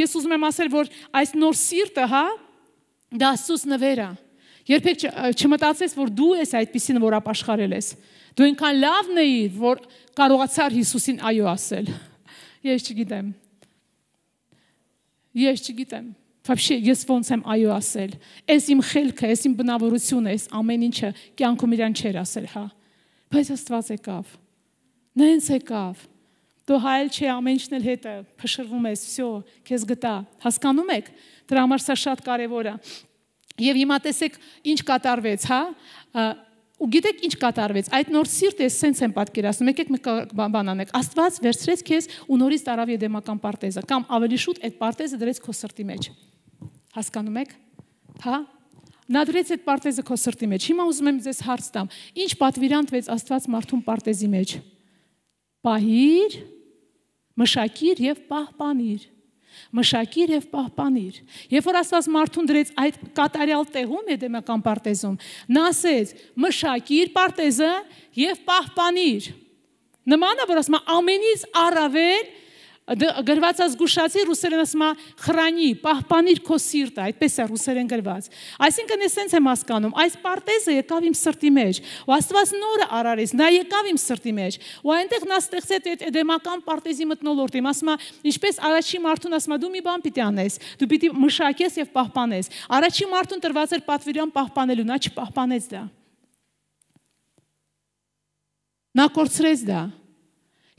ես ուզում եմ ասել, որ այս նոր սիրտը, հա, դա Աստծուց նվեր է, երբեք չմտածես, որ դու ես այդպիսին, որ ապաշխարել ես, դու ինքան լավն էի, որ կարողացար Հիսուսին այո ասել, ես չգիտեմ, Вообще, ես ոնց եմ այո ասել, ես իմ խելքը, ես իմ բնավորությունը, ես ամեն ինչը կյանքում իրան չեր ասել, հա, բայց Աստված եկավ, նենց եկավ, դու հայել չի ամեն ինչն էլ հետը, փշրվում ես, վсё, քեզ գտա, հասկանում եք, դրա համար սա շատ կարևոր է, և հիմա տեսեք ինչ կատարվեց, հա, ու գիտեք ինչ կատարվեց, այդ նոր սիրտը ես սենց եմ պատկերացնում, եկեք մեկ բան անեք, Աստված վերցրեց քեզ ու նորից տարավ Եդեմական պարտեզը, կամ ավելի շուտ այդ պարտեզը դրեց քո սրտի մեջ, հասկանում եք, հա, նա դրեց այդ պարտեզը քո սրտի մեջ, հիմա ուզում եմ ձեզ հարց տամ, ինչ պատվիրան տվեց Աստված մարդուն պարտեզի մեջ, պահիր, մշակիր և պահպանիր, մշակիր և պահպանիր, երբ որ Աստված մարդուն դրեց այդ կատարյալ տեղում Եդեմական պարտեզում, նա ասեց մշակիր պարտեզը և պահպանիր, նման է, որ ասում է ամենից առավել գրված է զգուշացի, ռուսերեն ասում է խրանի, պահպանիր քո սիրտը, այդպես է ռուսերեն գրված, այսինքն ես սենց եմ հասկանում, այս պարտեզը եկավ իմ սրտի մեջ, ու Աստված նորը արարեց, նա եկավ իմ սրտի մեջ, ու այնտեղ նա ստեղծեց այդ Էդեմական պարտեզի մթնոլորտը, ասում է, ինչպես առաջի մարդուն ասում է, դու մի բան պիտի անես, դու պիտի մշակես և պահպանես, առաջի մարդուն տրված էր պատվիրան պահպանելու, նա չպահպանեց դա։ Նա կորցրեց դա։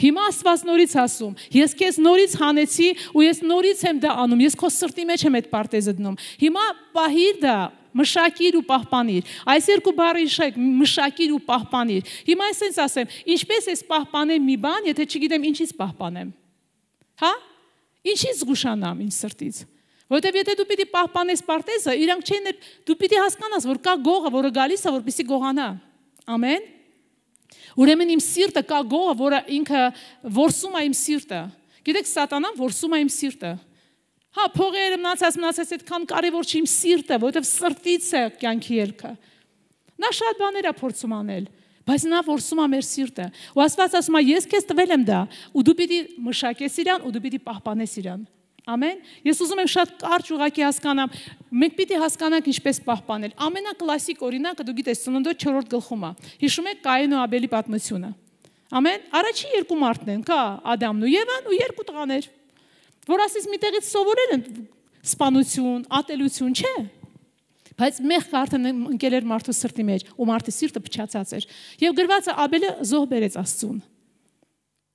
Հիմա Աստված նորից ասում, ես քեզ նորից հանեցի ու ես նորից եմ դա անում, ես քո սրտի մեջ եմ այդ պարտեզը դնում։ Հիմա պահիր դա, մշակիր ու պահպանիր։ Այս երկու բառը հիշեք, մշակիր ու պահպանիր։ Հիմա այսպես ասեմ, ինչպես ես պահպանեմ մի բան, եթե չգիտեմ ինչից պահպանեմ։ Հա? Ինչից զգուշանամ ինձ սրտից։ Որտեւ եթե դու պիտի պահպանես պարտեզը, իրանք չեն, դու պիտի հասկանաս, որ կա գողը, որը գալիս է, որպեսզի գողանա։ Ամեն։ Ուրեմն իմ սիրտը կա գողը, որը ինքը որսում է իմ սիրտը։ Գիտեք, սատանան որսում է իմ սիրտը։ Հա, փողերը մնացած այդքան կարևոր չի իմ սիրտը, որովհետև սրտից է կյանքի ելքը։ Նա շատ բաներ է փորձում անել, բայց նա որսում է մեր սիրտը։ Ու Աստված ասում է, ես քեզ տվել եմ դա, ու դու պիտի մշակես իրան, ու դու պիտի պահպանես իրան։ Ամեն։ Ես ուզում եմ շատ կարճ ուղղակի հասկանամ, մենք պիտի հասկանանք ինչպես պահպանել։ Ամենակլասիկ օրինակը դու գիտես, Ծննդոց 4-րդ գլխում է։ Հիշում եք Կայեն ու Աբելի պատմությունը։ Ամեն։ Առաջի երկու մարդն են, կա Ադամն ու Եվան ու երկու տղաներ, որ ասես միտեղից սովորել են սպանություն, ատելություն, չէ։ Բայց մեղքը արդեն ընկել էր մարդու սրտի մեջ, ու մարդի սիրտը փչացած էր։ Եվ գրված է Աբելը զոհ բերեց Աստծուն։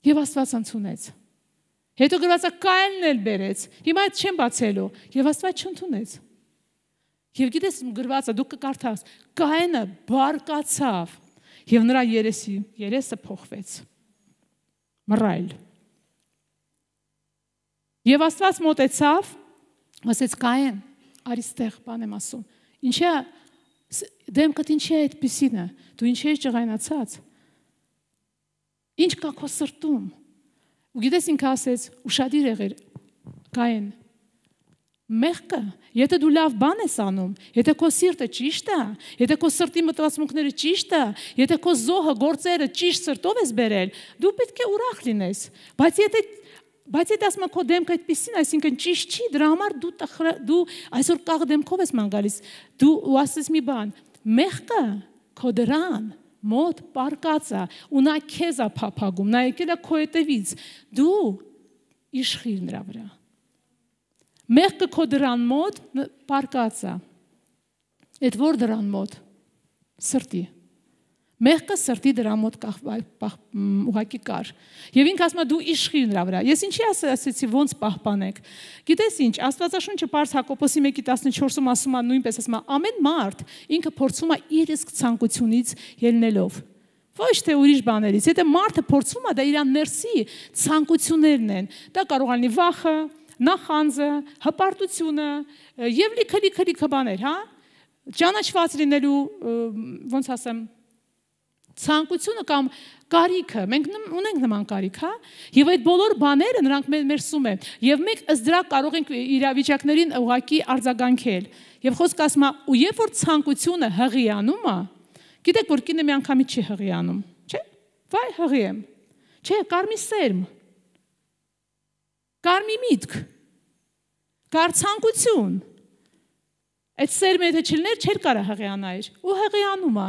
Եվ Աստված ընդունեց։ Հետո գրված է Կայենն էլ բերեց։ Հիմա այդ չեմ բացելու։ Եվ Աստված չընդունեց։ Եվ գիտես գրված է, դու կկարդաս, Կայենը բարկացավ, եւ նրա երեսը փոխվեց։ Մռայլ։ Եվ Աստված մոտեցավ, ասեց Կայեն, արի ստեղ, բան եմ ասում։ Ինչի՞ դեմքդ ինչի՞ է այդպիսինը։ Դու ինչի՞ ես ջղայնացած։ Ինչ կա քո սրտում։ Ու գիտես ինքը ասեց, ուշադիր եղիր, Կայեն, մեղքը, եթե դու լավ բան ես անում, եթե քո սիրտը ճիշտ է, եթե քո սրտի մտածմունքները ճիշտ է, եթե քո զոհը, գործերը ճիշտ սրտով ես բերել, դու պետք է ուրախ լինես։ Բայց եթե ասում քո դեմքը այդպեսին, այսինքն ճիշտ չի, դրա համար դու այսօր կաղ դեմքով ես ման գալիս, դու ու ասես մի բան, մեղքը քո դրան մոտ պարկած է, ու նա քեզ է փափագում, նա եկել է քո հետևից, դու իշխիր նրա վրա։ Մեղքը քո դրան մոտ պարկած է։ Այդ որ դրան մոտ սրտի։ Մեղքը սրտի դրան մոտ ուղակի կար։ Եվ ինքը ասում է դու իշխիր նրա վրա։ Ես ինչի ասեցի ոնց պահպանեք։ Գիտես ինչ, Աստվածաշունչը Պարս Հակոբոսի 1:14-ում ասում է նույնպես ասում է ամեն մարդ ինքը փորձում է իր իսկ ցանկությունից ելնելով։ Ոչ թե ուրիշ բաներից։ Եթե մարդը փորձում է, դա իր ներսի ցանկություններն են։ Դա կարող է լինի վախը, նախանձը, հպարտությունը եւ լիքը բաներ, հա։ Ճանաչված լինելու, ոնց ասեմ, ցանկությունը կամ կարիքը, մենք ունենք նման կարիք, հա, եւ այդ բոլոր բաները նրանք ներսում են, եւ մենք ըստ դրա կարող ենք իրավիճակներին ուղակի արձագանքել։ Եվ խոսքը ասում է, ու երբ որ ցանկությունը հղիանում է, գիտեք որ կինը մի անգամից չի հղիանում, չէ՞։ Վայ, հղիեմ։ Չէ, կար մի սերմ։ Կար մի միտք։ Կար ցանկություն։ Այդ սերմը եթե չլներ, չէր կարա հղիանայր, ու հղիանում է։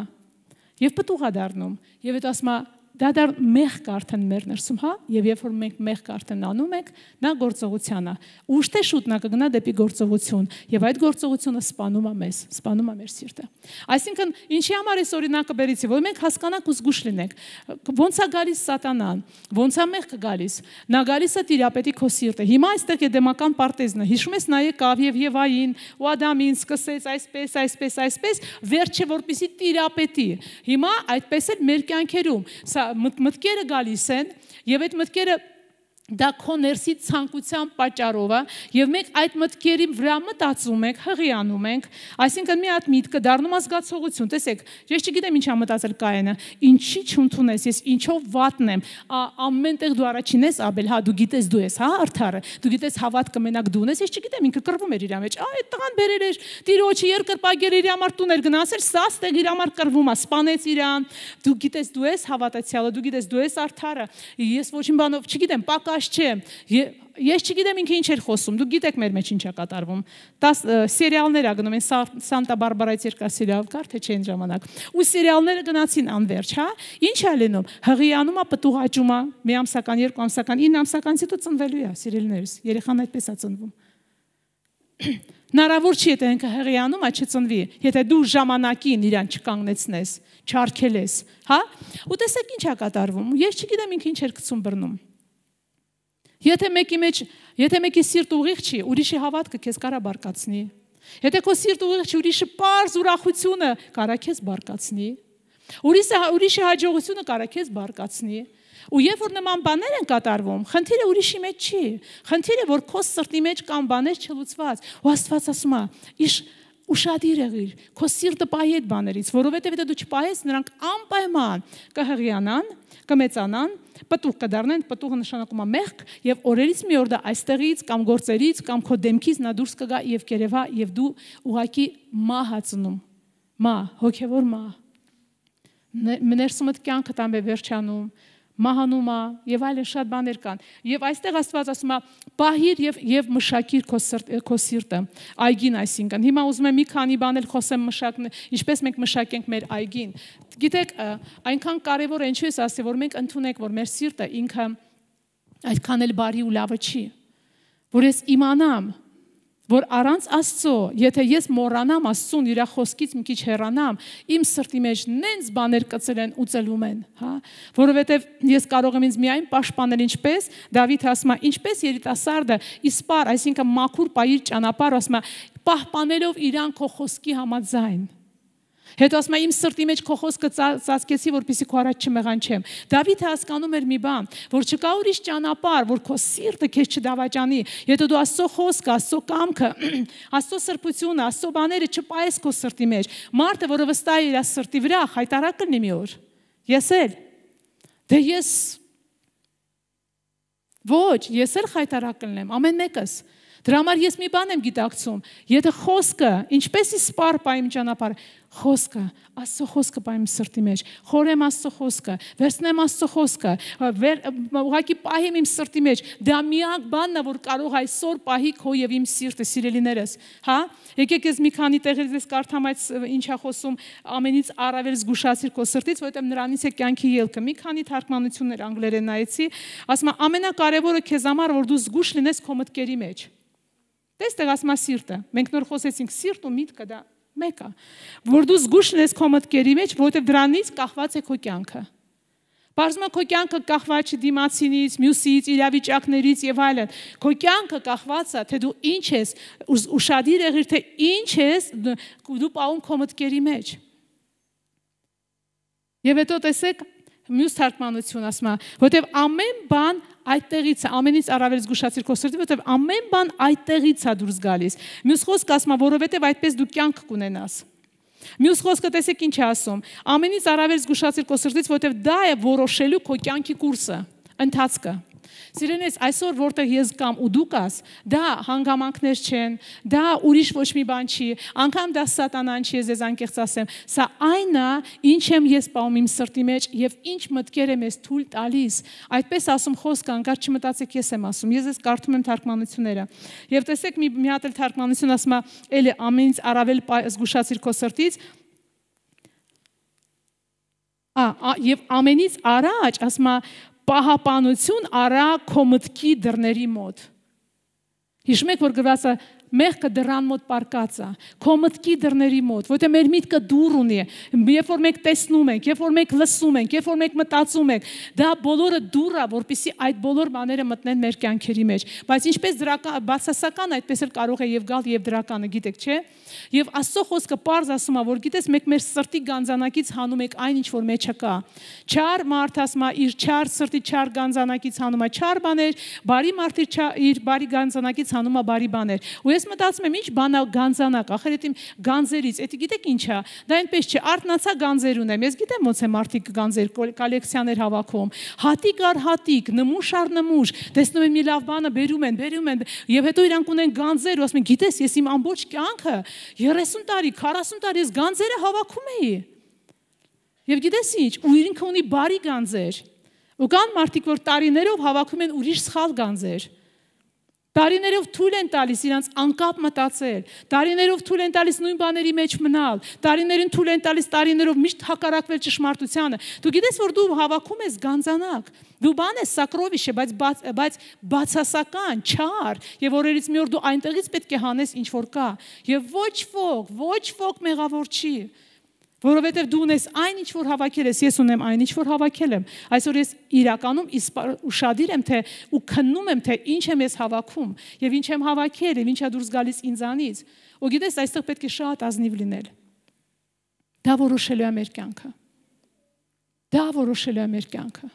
Եվ պտուղ է դառնում, եւ այդ ասում է դա մեղք արդեն մեր ներսում, հա, եւ երբ որ մենք մեղք արդեն անում ենք, նա գործողության է։ Ուշ թե շուտ նա կգնա դեպի գործողություն, եւ այդ գործողությունը սպանում է մեզ, սպանում է մեր սիրտը։ Այսինքն, ինչի համար այս օրինակը բերեցի, որ մենք հասկանանք ու զգուշ լինենք։ Ոնց է գալիս սատանան, ոնց է մեղքը գալիս։ Նա գալիս է տիրապետի քո սիրտը։ Հիմա այստեղ էդեմական պարտեզն է։ Հիշում ես նա եկավ եւ Եվային ու Ադամին սկսեց այսպես, վերջը որպեսի տիրապետի։ Հիմա այդպես էլ մեր կյանքերում մտքերը գալիս են եւ այդ մտքերը դա քո ներսի ցանկության պատճառով է եւ մենք այդ մտքերի վրա մտածում ենք, հղիանում ենք, այսինքն մի հատ միտքը դառնում է զգացողություն։ Տեսեք, ես չգիտեմ ինչա մտածել Կայենը, ինչի չընդունես, ես ինչով վատն եմ, ամենտեղ դու առաջին ես, Աբել, հա, դու գիտես դու ես, հա, արդարը, դու գիտես հավատքը մենակ դու ունես, ես չգիտեմ, ինքը կռվում էր իր մեջ, այդ տղան բերեր էր, տիրոջը երկրպագեր իր համար տուն էր գնացել, սաստեղ իր համար կռվում է, սպանեց իրան, դու գիտես դու ես հավատացյալը, դու գիտես դու ես արդարը, ես ոչինչ բանով չգիտեմ, պակաս չեմ, ես չգիտեմ ինքը ինչ էր խոսում, դուք գիտեք մեր մեջ ինչ է կատարվում, սերիալներ ա գնում են, Սանտա Բարբարայից երկար սերիալ կար, թե չէ այն ժամանակ, ու սերիալները գնացին անվերջ, հա, ինչ է լինում, հղիանում է, պտուղ աճում է, մի ամսական, երկու ամսական, 9 ամսականից հետո ծնվելու է, սիրելիներս, երեխան այդպես է ծնվում։ Հնարավոր չի, եթե ինքը հեղիանում, այդ չծնվի, եթե դու ժամանակին իրան չկանգնեցնես, չարգելես, հա? Ու տեսեք ինչ է կատարվում։ Ես չգիտեմ ինքը ինչ էր գցում բռնում։ Եթե մեկի սիրտ ուղիղ չի, ուրիշի հավատքը քեզ կարա բարկացնի։ Եթե քո սիրտ ուղիղ չի, ուրիշի պարզ ուրախությունը կարա քեզ բարկացնի։ Ուրիշի հաջողությունը կարա քեզ բարկացնի։ Ու երբ որ նման բաներ են կատարվում, խնդիրը ուրիշի մեջ չի։ Խնդիրը որ քո սրտի մեջ կան բաներ չլուծված։ Ու Աստված ասում է. «Իշ ուշադիր եղիր, քո սիրտը պահի այդ բաներից, որովհետև եթե դու չպահես, նրանք անպայման կհղիանան, կմեծանան, պտուղ կդառնան, պտուղը նշանակում է մեղք, եւ օրերից մի օր դա այստեղից կամ գործերից կամ քո դեմքից նա դուրս կգա եւ կերևա եւ դու ուղակի մահացնում։ Հոգեվոր մահ։ Ներսումդ կյանքը տամ է վերջանում, մահանում է եւ այլն շատ բաներ կան։ Եվ այստեղ Աստված ասում է. «Պահիր եւ մշակիր քո սիրտը»։ Այգին այսինքն։ Հիմա ուզում եմ մի քանի բան էլ խոսեմ մշակն, ինչպես մենք մշակենք մեր այգին։ Գիտեք, այնքան կարեւոր է, ինչու ես ասի, որ մենք ընդունենք, որ մեր սիրտը ինքը այդքան էլ բարի ու լավը չի։ Որ ես իմանամ, որ առանց Աստծո, եթե ես մոռանամ Աստծուն իր խոսքից մի քիչ հեռանամ, իմ սրտի մեջ նենց բաներ կծել են ու ծլում են, հա, որովհետև ես կարող եմ ինձ միայն պաշտպանել ինչպես Դավիթը ասում է, ինչպես երիտասարդը իսպար, այսինքն մաքուր պայիր ճանապարհ, ասում է, պահպանելով իրան քո խոսքի համաձայն։ Հետո ասում է իմ սրտի մեջ քո խոսքը ծածկեցի, որպեսզի քո առաջ չմեղանչեմ։ Դավիթը հասկանում էր մի բան, որ չկա ուրիշ ճանապարհ, որ քո սիրտը քեզ չդավաճանի։ Եթե դու Աստծո խոսքը, Աստծո կամքը, Աստծո սրբությունը, Աստծո բաները չպայես քո սրտի մեջ, մարդը, որը վստահ է իր սրտի վրա, խայտարակ կլինի մի օր։ Ես էլ։ Դե ես ոչ, ես էլ խայտարակ կլինեմ, ամեն մեկս։ Դրա համար ես մի բան եմ գիտակցում, եթե խոսքը, ինչպես է սպառ պայմ ճանապարհ, խոսքը, Աստծո խոսքը պայմ սրտի մեջ, խորեմ Աստծո խոսքը, վերցնեմ Աստծո խոսքը, ուղղակի պահեմ իմ սրտի մեջ, դա միակ բանն է, որ կարող այսօր պահի քո եւ իմ սիրտը, սիրելիներս, հա? Եկեք ես մի քանի տեղից ես կարդամ այդ ինչա խոսում, ամենից առավել զգուշացիր քո սրտից, որովհետեւ նրանից է կյանքի ելքը։ Մի քանի թարգմանություններ անգլերեն նայեցի, ասում է ամենակարևորը քեզ համար որ դու զգուշ լինես քո մտքերի մեջ։ Տեսեք, ասում է սիրտը։ Մենք նոր խոսեցինք սիրտ ու միտքը դա մեկը։ Որ դու զգուշ լինես քո մտքերի մեջ, որովհետև դրանից կախված է քո կյանքը։ Բարձրում է քո կյանքը կախված չի դիմացինից, մյուսից, իրավիճակներից եւ այլն։ Քո կյանքը կախված է, թե դու ինչ ես, ուշադիր եղիր, թե ինչ ես դու պահում քո մտքերի մեջ։ Եվ հետո տեսեք մյուս թարգմանություն ասում է, որովհետև ամեն բան այդտեղից է, ամենից առավել զգուշացիր քո սրտի, որովհետև ամեն բան այդտեղից է դուրս գալիս։ Մյուս խոսքը ասում է, որովհետև այդպես դու կյանք կունենաս։ Մյուս խոսքը տեսեք ինչ է ասում, ամենից առավել զգուշացիր քո սրտից, որովհետև դա է որոշելու քո կյանքի կուրսը, ընթացքը։ Սիրելիներս, այսօր որտեղ ես կամ ու դու կաս, դա հանգամանքներ չեն, դա ուրիշ ոչ մի բան չի, անգամ դա սատանան չի, ես անկեղծ ասեմ, սա այն է, ինչ եմ ես պահում իմ սրտի մեջ եւ ինչ մտքեր եմ ես թույլ տալիս։ Այդպես ասում խոսքը, անկար չմտածեք ես եմ ասում, ես կարդում եմ թարգմանությունները։ Եվ տեսեք մի հատ էլ թարգմանություն ասում է, էլի ամենից առավել զգուշացիր քո սրտից։ Եվ ամենից առաջ ասում է պահապանություն արա քո մտքի դռների մոտ։ Հիշում եք, որ գրված է մեղքը դռան մոտ պարկած է, քո մտքի դռների մոտ, որտեղ մեր միտքը դուռ ունի, երբ որ մենք տեսնում ենք, երբ որ մենք լսում ենք, երբ որ մենք մտածում ենք, դա բոլորը դուռ է, որպեսզի այդ բոլոր բաները մտնեն մեր կյանքերի մեջ։ Բայց ինչպես բացասական, այդպես էլ կարող է եւ գալ եւ դրականը, գիտեք, չէ՞։ Եվ Աստծո խոսքը պարզ ասում է, որ գիտես, մենք մեր սրտի գանձանակից հանում ենք այն, ինչ որ մեջը կա։ Չար մարդ ասում է, իր չար սրտի չար գանձանակից հանում է չար բաներ, բարի մարդ իր բարի գանձանակից հանում է բարի բաներ։ Ու ես մտածում եմ, ինչ բան է գանձանակ, ախր այդ իմ գանձերից, դա գիտեք ինչ է, դա այնպես չէ, արտնացա գանձեր ունեմ, ես գիտեմ ոնց է մարդիկ գանձեր կոլեկցիաներ հավաքում, հատիկ առ հատիկ, նմուշ առ նմուշ, տեսնում են մի լավ բանը, բերում են, եւ հետո իրանք ունեն գանձեր, ու ասում են, գիտես, ես իմ ամբողջ կյանքը 30 տարի, 40 տարի ես գանձերը հավաքում էի։ Եվ գիտես ինչ, ու ինքը ունի բարի գանձեր։ Ու կան մարդիկ, որ տարիներով հավաքում են ուրիշ սխալ գանձեր։ Տարիներով թույլ են տալիս իրանց անկապ մտածել, տարիներով թույլ են տալիս նույն բաների մեջ մնալ, տարիներին թույլ են տալիս տարիներով միշտ հակառակվել ճշմարտությանը։ Դու գիտես, որ դու հավաքում ես գանձանակ, դու բան ես սակրովիշ է, բայց բացասական, չար, եւ օրերից մի օր դու այնտեղից պետք է հանես ինչ որ կա, եւ ոչ ոք մեղավոր չի։ Որովհետև դու ունես այն ինչ որ հավաքել ես, ես ունեմ այն ինչ որ հավաքել եմ։ Այսօր ես իրականում ուշադիր եմ թե ու քննում եմ թե ինչ եմ ես հավաքում եւ ինչ եմ հավաքել եւ ինչա դուրս գալիս ինձանից։ Ու գիտես, այստեղ պետք է շատ ազնիվ լինել։ Դա որոշելու է մեր կյանքը։ Դա որոշելու է մեր կյանքը։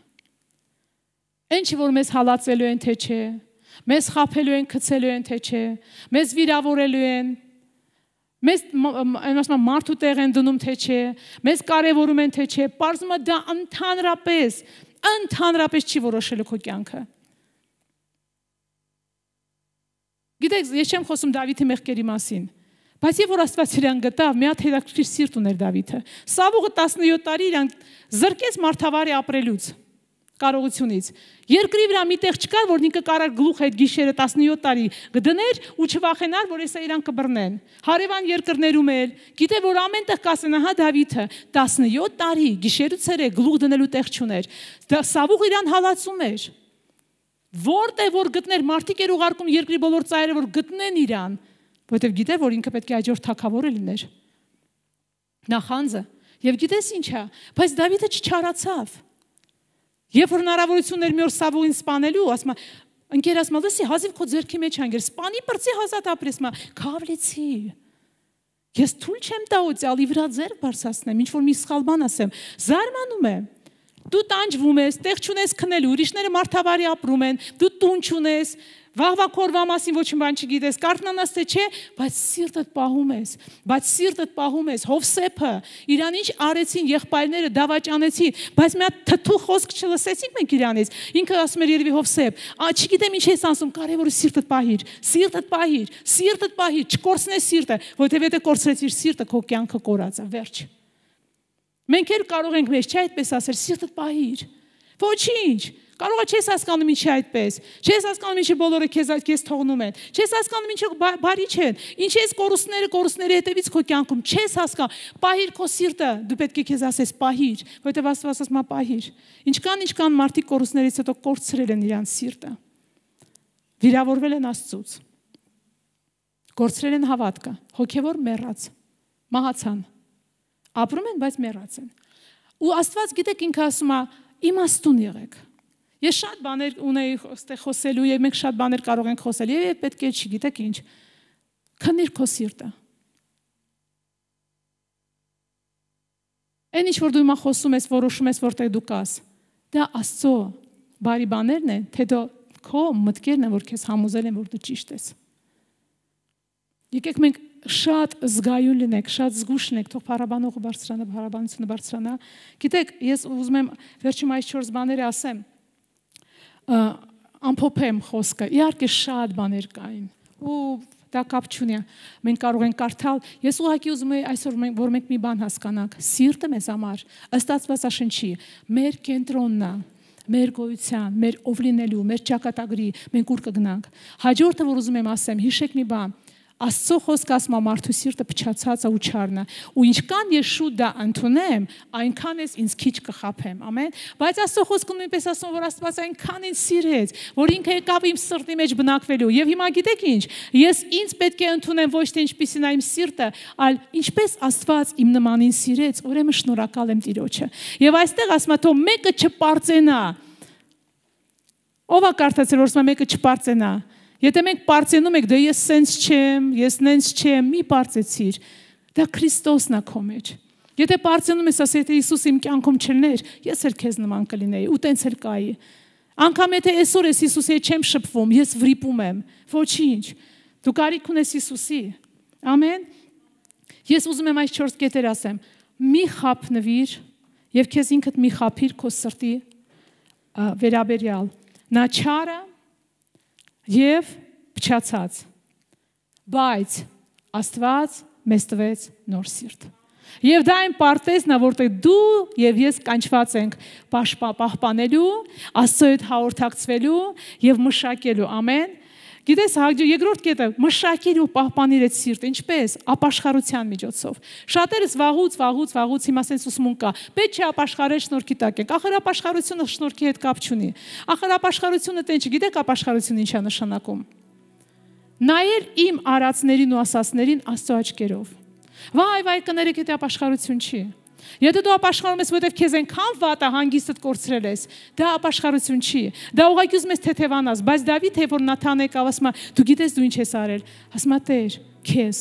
Ինչ որ մեզ հալածելու են թե չէ, մեզ խաբելու են, գցելու են թե չէ, մեզ վիրավորելու են, մեզ մարդու տեղ են դնում թե չէ, մեզ կարևորում են թե չէ, պարզվում է դա ընդհանրապես չի որոշելու քո կյանքը։ Գիտեք, ես չեմ խոսում Դավիթի մեղքերի մասին, բայց երբ որ Աստված իրան գտավ, մի հատ հետաքրքիր սիրտ ուներ Դավիթը։ Սավուղը 17 տարի իրան զրկեց մարդավարի ապրելուց, կարողությունից։ Երկրի վրա մի տեղ չկար, որ ինքը կարար գլուխ այդ գիշերը 17 տարի գդներ ու չվախենար, որ հեսա իրան կբռնեն։ Հարևան երկրներում էլ, գիտե որ ամենտեղ կասեն, ահա Դավիթը 17 տարի գիշեր ու ցերեկ գլուխ դնելու տեղ չուներ։ Սավուղ իրան հալածում էր։ Որտեղ որ գտներ, մարդիկ էր ուղարկում երկրի բոլոր ծայրերը, որ գտնեն իրան, որովհետև գիտե որ ինքը պետք է հաջորդ թագավորը լիներ։ Նախանձը։ Եվ գիտես ինչա, բայց Դավիթը չչարացավ։ Երբ որ հնարավորություններ մի օր Սավուղին սպանելու, ասում է, ընկեր ասում է, լսի, հազիվ քո ձեռքի մեջ անգեր, սպանի բրծի հազատ ապրես, մա, քավլեցի։ Ես թույլ չեմ տա օծյալի վրա ձեռք բարձրացնեմ, ինչ որ մի սխալ բան ասեմ, զարմանում եմ։ Դու տանջվում ես, տեղ չունես քնելու, ուրիշները մարդավարի ապրում են, դու տուն չունես, վաղվա քորվա մասին ոչ մի բան չգիտես, կարթնանաս թե չէ, բայց սիրտդ պահում ես, Հովսեփը, իրան ինչ արեցին եղբայրները, դավաճանեցին, բայց մի հատ թթու խոսք չլսեցինք մենք իրանից, ինքը ասում էր երևի Հովսեփ, չգիտեմ ինչ ես ասում, կարևորը սիրտդ պահիր, չկորցնես սիրտը, որովհետև եթե կորցրեցիր սիրտը, քո կյանքը կորած է, վերջ։ Մենք էլ կարող ենք մեզ, չէ՞ այդպես ասել, սիրտդ պահիր։ Ոչինչ։ Կարող է չես հասկանում ինչի այդպես։ Չես հասկանում ինչի բոլորը քեզ թողնում են։ Չես հասկանում ինչի բարի չեն։ Ինչ ես կորուստների հետևից քո կյանքում չես հասկանում։ Պահիր քո սիրտը, դու պետք է քեզ ասես պահիր, որովհետև Աստված ասում է պահիր։ Ինչքան մարդիկ կորուստներից հետո կորցրել են իրանց սիրտը։ Վիրավորվել են Աստծուց։ Կորցրել են հավատքը, հոգևոր մեռած, մահացան։ Ապրում են, բայց մեռած են։ Ու Աստված գիտեք ինքը ասում է իմաստուն եղեք։ Ես շատ բաներ ունեի այստեղ խոսելու եւ մենք շատ բաներ կարող ենք խոսել եւ պետք է չգիտեք ինչ։ Քնիր քո սիրտը։ Այն ինչ որ դու հիմա խոսում ես, որոշում ես որտեղ դու կաս, դա Աստծո բարի բաներն են, թե դու քո մտքերն են, որ քեզ համոզել են, որ դու ճիշտ ես։ Եկեք մենք շատ զգայուն լինենք, շատ զգուշ լինենք, թող փառաբանողը բարձրանա, փառաբանությունը բարձրանա։ Գիտեք, ես ուզում եմ վերջում այս 4 բաները ասեմ։ Ամփոփեմ խոսքը։ Իհարկե շատ բաներ կային։ Ու դա կապ չունի։ Մենք կարող ենք կարդալ։ Ես ուղղակի ուզում եմ այսօր որ մենք մի բան հասկանանք։ Սիրտը մեզ համար ըստ Աստվածաշնչի մեր կենտրոնն է, մեր գոյության, մեր ով լինելու, մեր ճակատագրի, մենք ուր կգնանք։ Հաջորդը որ ուզում եմ ասեմ, հիշեք մի բան։ Աստծո խոսքը ասում է մարդու սիրտը փչացած է ու չարն է, ու ինչքան ես շուտ դա ընդունեմ, այնքան ես ինձ քիչ կխաբեմ, ամեն։ Բայց Աստծո խոսքը նույնպես ասում է, որ Աստված այնքան ինձ սիրեց, որ ինքը եկավ իմ սրտի մեջ բնակվելու։ Եվ հիմա գիտեք ինչ, ես ինձ պետք է ընդունեմ ոչ թե ինչպիսին է իմ սիրտը, այլ ինչպես Աստված իմ նմանին սիրեց, ուրեմն շնորհակալ եմ Տիրոջը։ Եվ այստեղ ասում է, թող մեկը չպարծենա։ Ո՞վ է կարծացել, որ մեկը չպարծենա։ Եթե մենք պարծենում ենք, դե ես սենց չեմ, ես նենց չեմ, մի պարծեցիր, դա Քրիստոսն է քո մեջ։ Եթե պարծենում ես, ասես եթե Հիսուս իմ կյանքում չլներ, ես էլ քեզ նման կլինեի, ու տենց էլ կայի։ Անկամ եթե այսօր ես Հիսուսի հետ չեմ շփվում, ես վրիպում եմ, ոչինչ։ Դու կարիք ունես Հիսուսի։ Ամեն։ Ես ուզում եմ այս 4 կետեր ասեմ։ Մի խափնվիր եւ քեզ ինքդ մի խափիր քո սրտի վերաբերյալ։ Նա չարը եւ փչացած, բայց Աստված մեզ տվեց նոր սիրտ։ Եվ դա այն պարտեզն է, որտեղ դու եւ ես կանչված ենք պահպանելու, Աստծո հետ հաղորդակցվելու եւ մշակելու, ամեն։ Գիտես, երկրորդ կետը մշակիր ու պահպանիր այդ սիրտը, ինչպես ապաշխարության միջոցով։ Շատերս վաղուց հիմա sense ուսմուն կա։ Պետք չէ ապաշխարել շնորհքի տակ ենք։ Ախր ապաշխարությունը շնորհքի հետ կապ չունի։ Ախր ապաշխարությունը տենց չի, գիտեք ապաշխարությունը ինչ է նշանակում։ Նայել իմ արածներին ու ասածներին Աստծո աչքերով։ Վայ, կներեք, դա ապաշխարություն չի։ Եթե դու ապաշխարում ես, որովհետև քեզ այնքան վատ է հանգիստդ կորցրել ես, դա ապաշխարություն չի։ Դա ուղղակի ուզում ես թեթևանաս, բայց Դավիթ է, որ Նաթան եկավ, ասում է, դու գիտես դու ինչ ես արել։ Ասում է, Տեր, քեզ,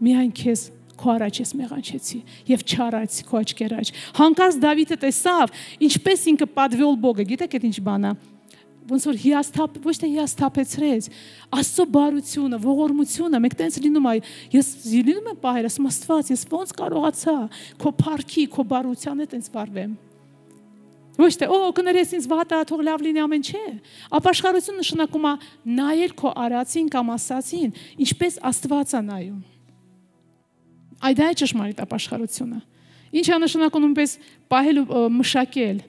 միայն քեզ քո առաջ ես մեղանչեցի եւ չարացի քո աչքեր աջ։ Հանկարծ Դավիթը տեսավ, ինչպես ինքը պատվյոլ Բոգը, գիտեք այդ ինչ բան է։ Ոնց որ ոչ թե հիասթափեցրեց, Աստծո բարությունը, ողորմությունը, մեկ տենց լինում է, ես լինում եմ պահեր, ասում Աստված, ես ոնց կարողացա քո փառքի, քո բարության հետ տենց վարվեմ։ Ոչ թե, կներես ինձ վատ է, թող լավ լինի ամեն չէ։ Ապաշխարություն նշանակում է նայել քո արածին կամ ասածին, ինչպես Աստված է նայում։ Այդ է ճշմարիտ ապաշխարությունը։ Ինչ է նշանակում նույնպես պահել ու մշակել,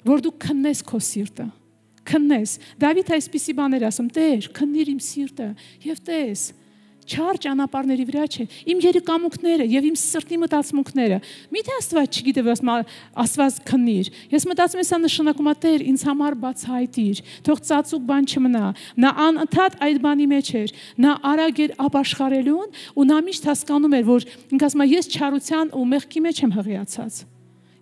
որ դու քննես քո սիրտը։ Քննես։ Դավիթ այսպիսի բաներ ասում, Տեր, քննիր իմ սիրտը եւ տես, չար ճանապարհների վրա չէ, իմ երիկամուկները եւ իմ սրտի մտածմունքները։ Միթե Աստված չգիտե, Աստված քննիր։ Ես մտածում եմ, սա նշանակում է Տեր, ինձ համար բացահայտիր, թող ծածուկ բան չմնա։ Նա անընդհատ այդ բանի մեջ էր, նա արագ էր ապաշխարելուն ու նա միշտ հասկանում էր, որ ինքը ասում է, ես չարության ու մեղքի մեջ եմ հղիացած։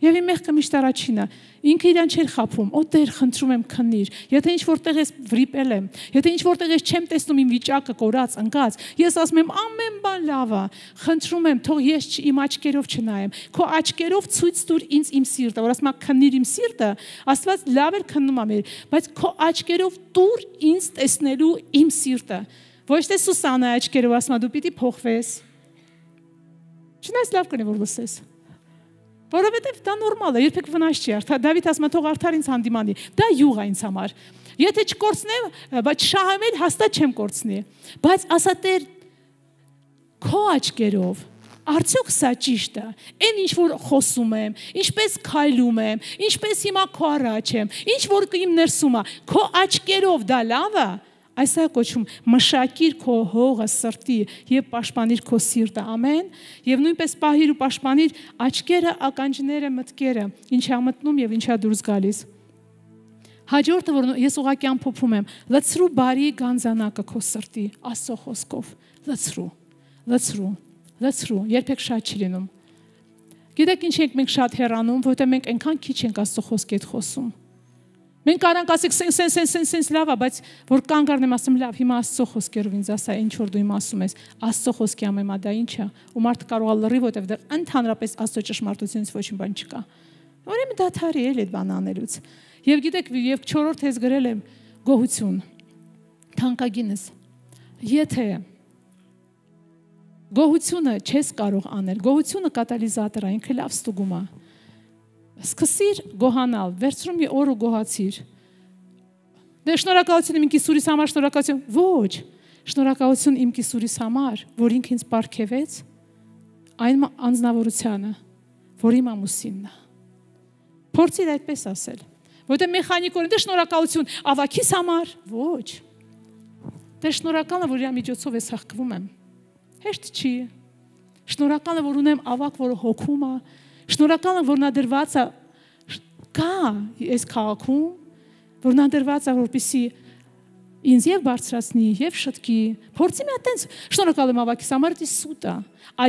Եվ իմ մեղքը միշտ առաջինը, ինքը իրան չէր խափում, Տեր, խնդրում եմ քննիր, եթե ինչ որտեղ ես վրիպել եմ, եթե ինչ որտեղ ես չեմ տեսնում իմ վիճակը կորած, ընկած, ես ասում եմ ամեն բան լավ է, խնդրում եմ, թող ես իմ աչքերով չնայեմ, քո աչքերով ցույց տուր ինձ իմ սիրտը, որ ասում եմ քննիր իմ սիրտը, Աստված լավ էր քննում է մեր, բայց քո աչքերով տուր ինձ տեսնելու իմ սիրտը, ոչ թե Սուսանա աչքերով ասում դու պիտի փոխվես։ Չնայած լավ կլինի որ լսես։ Որովհետև դա նորմալ է, երբեք վնաս չի արթ։ Դավիթ ասում է, թող արդար ինձ հանդիմանի։ Դա յուղ է ինձ համար։ Եթե չկորցնեմ, բայց շահեմ, հաստատ չեմ կորցնի։ Բայց ասա Տեր, քո աչքերով, արդյոք սա ճիշտ է։ Այն ինչ որ խոսում եմ, ինչպես քայլում եմ, ինչպես հիմա քո առաջ եմ, ինչ որ իմ ներսում է, քո աչքերով դա լավ է։ Այս է կոչում մշակիր քո հողը սրտի եւ պաշտպանիր քո սիրտը, ամեն, եւ նույնպես պահիր ու պաշտպանիր աչքերը, ականջները, մտքերը, ինչա մտնում եւ ինչա դուրս գալիս։ Հաջորդը, որ ես ուղղակի ամփոփում եմ, լցրու բարի գանձանակը քո սրտի, Աստծո խոսքով, լցրու, երբեք շատ չի լինում։ Գիտեք ինչ ենք մենք շատ հեռանում, որովհետեւ մենք այնքան քիչ ենք Աստծո խոսքի հետ խոսում։ Մենք կարանք ասենք սենց լավ է, բայց որ կանգ առնեմ ասեմ լավ, հիմա Աստծո խոսքերով ինձ ասա, ինչ որ դու իմ ասում ես, Աստծո խոսքի ամեմա դա ինչ է, ու մարդը կարող է լռի, որտեղ դեռ ընդհանրապես Աստծո ճշմարտությունից ոչինչ բան չկա։ Ուրեմն դադարի էլ այդ բանը անելուց։ Եվ գիտեք, եւ 4-րդ հես գրել եմ գոհություն։ Թանկագինս։ Եթե գոհությունը չես կարող անել, գոհությունը կատալիզատոր է, ինքը լավ ստուգում է։ Սկսիր գոհանալ, վերցրու մի օր ու գոհացիր։ Դե շնորհակալություն իմ կիսուրիս համար, շնորհակալություն։ Ոչ, շնորհակալություն իմ կիսուրիս համար, որ ինքը ինձ պարգևեց, այն անձնավորությանը, որ իմ ամուսինն է։ Փորձիր այդպես ասել։ Որտե մեխանիկորեն դե շնորհակալություն ավակիս համար, ոչ։ Դե շնորհակալ եմ, որ իր միջոցով ես հաղթվում եմ։ Հեշտ չի։ Շնորհակալ եմ, որ ունեմ ավակ, որը հոգում է։ Շնորհակալ եմ, որ նա դրված է կա այս քաղաքում, որ նա դրված է, որպեսզի ինձ եւ բարձրացնի եւ շտկի։ Փորձի մի այտենց շնորհակալ եմ ավակիս համար, դա սուտ է։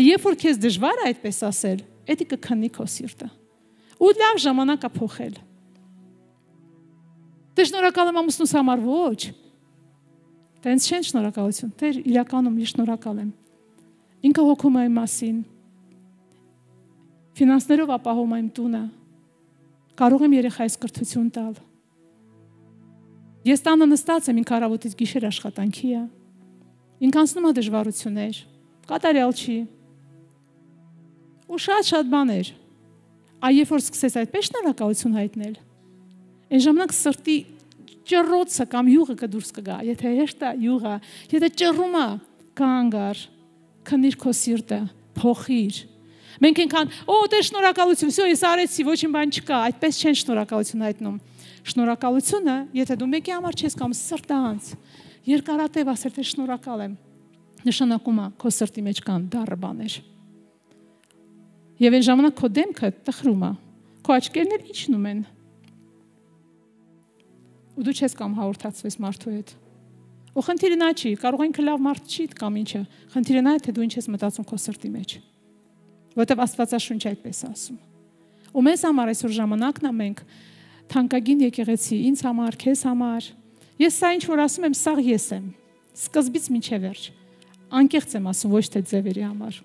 Երբ որ քեզ դժվար է այդպես ասել, դա կքննի քո սիրտը։ Ու լավ ժամանակ է փոխել։ Դե շնորհակալ եմ ամուսնուս համար, ոչ։ Տենց չեն շնորհակալություն։ Տեր իրականում ես շնորհակալ եմ։ Ինքը հոգում է իմ մասին։ Ֆինանսներով ապահովում եմ տունը, կարող եմ երեխայիս կրթություն տալ։ Ես տանը նստած եմ, ինքը առավոտից գիշեր աշխատանքի է, ինքը անցնում է դժվարություններ, կատարյալ չի, ու շատ բաներ, երբ որ սկսես այդպես շնորհակալություն հայտնել, այն ժամանակ սրտի ճռռոցը կամ յուղը կդուրս կգա, եթե հեշտ է յուղը, եթե ճռռում է, կանգ առ, քննիր քո սիրտը, փոխիր։ Մենք այնքան, դե շնորհակալություն, всё, ես արեցի, ոչինչ բան չկա, այդպես չեն շնորհակալություն հայտնում։ Շնորհակալությունը, եթե դու մեկի համար չես կամ սրտանց, Երկարատև ասել թե շնորհակալ եմ։ Նշանակում է քո սրտի մեջ կան դառը բաներ։ Եվ այն ժամանակ քո դեմքը տխրում է, քո աչքերն էլ իջնում են։ Ու դու չես կամ հաղորդացվես մարդու հետ։ Ու խնդիրը նա չի, կարող է ինքը լավ մարդ չի կամ ինչը։ Խնդիրը նա է, թե դու ինչ ես մտածում քո սրտի մեջ։ Որտեվ Աստվածաշունչը այդպես ասում։ Ու մեզ համար այսօր ժամանակն է մենք թանկագին եկեղեցի, ինձ համար, քեզ համար։ Ես սա ինչ որ ասում եմ, սա ես եմ։ Սկզբից մինչև վերջ։ Անկեղծ եմ ասում, ոչ թե ձևերի համար։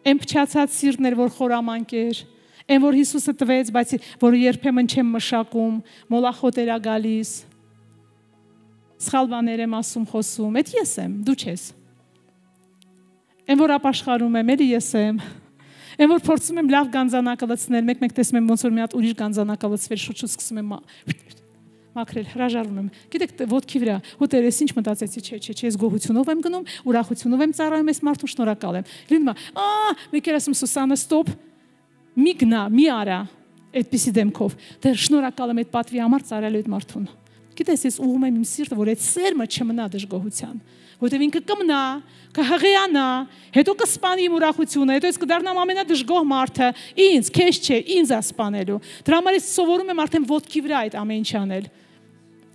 Այն փչացած սիրտներ, որ խորամանկ էր, այն որ Հիսուսը տվեց, բայց որը երբեմն չեմ մշակում, մոլախոտ էր գալիս։ Սխալ բաներ եմ ասում, խոսում, այդ ես եմ, դու չես։ Այն որ ապաշխարում եմ, էլի ես եմ։ Այն որ փորձում եմ լավ գանձանակը լցնել, մեկ-մեկ տեսնում եմ ոնց որ մի հատ ուրիշ գանձանակը լցվել, շուտ-շուտ սկսում եմ մաքրել, հրաժարվում եմ։ Գիտեք, ոտքի վրա, հոտեր ես ինչ մտածեցի, չէ, ես գոհությունով եմ գնում, ուրախությունով եմ ծառայում, ես մարդուն շնորհակալ եմ։ Լինում է, մեկ էլ ասում Սուսանա, ստոպ, մի գնա, մի արա, այդպիսի դեմքով։ Դեռ շնորհակալ եմ այդ պատվի համար ծառայելու այդ մարդուն։ Գիտես, ես ուղում եմ իմ սիրտը, որ այդ սերմը չմնա դժգոհության, որտեղ ինքը կմնա, կհղիանա, հետո կսպանի իմ ուրախությունը, հետո ես կդառնամ ամենադժգոհ մարդը, ինձ, քեզ չէ, ինձ է սպանելու։ Դրա համար ես սովորում եմ արդեն ոտքի վրա այդ ամեն ինչ անել։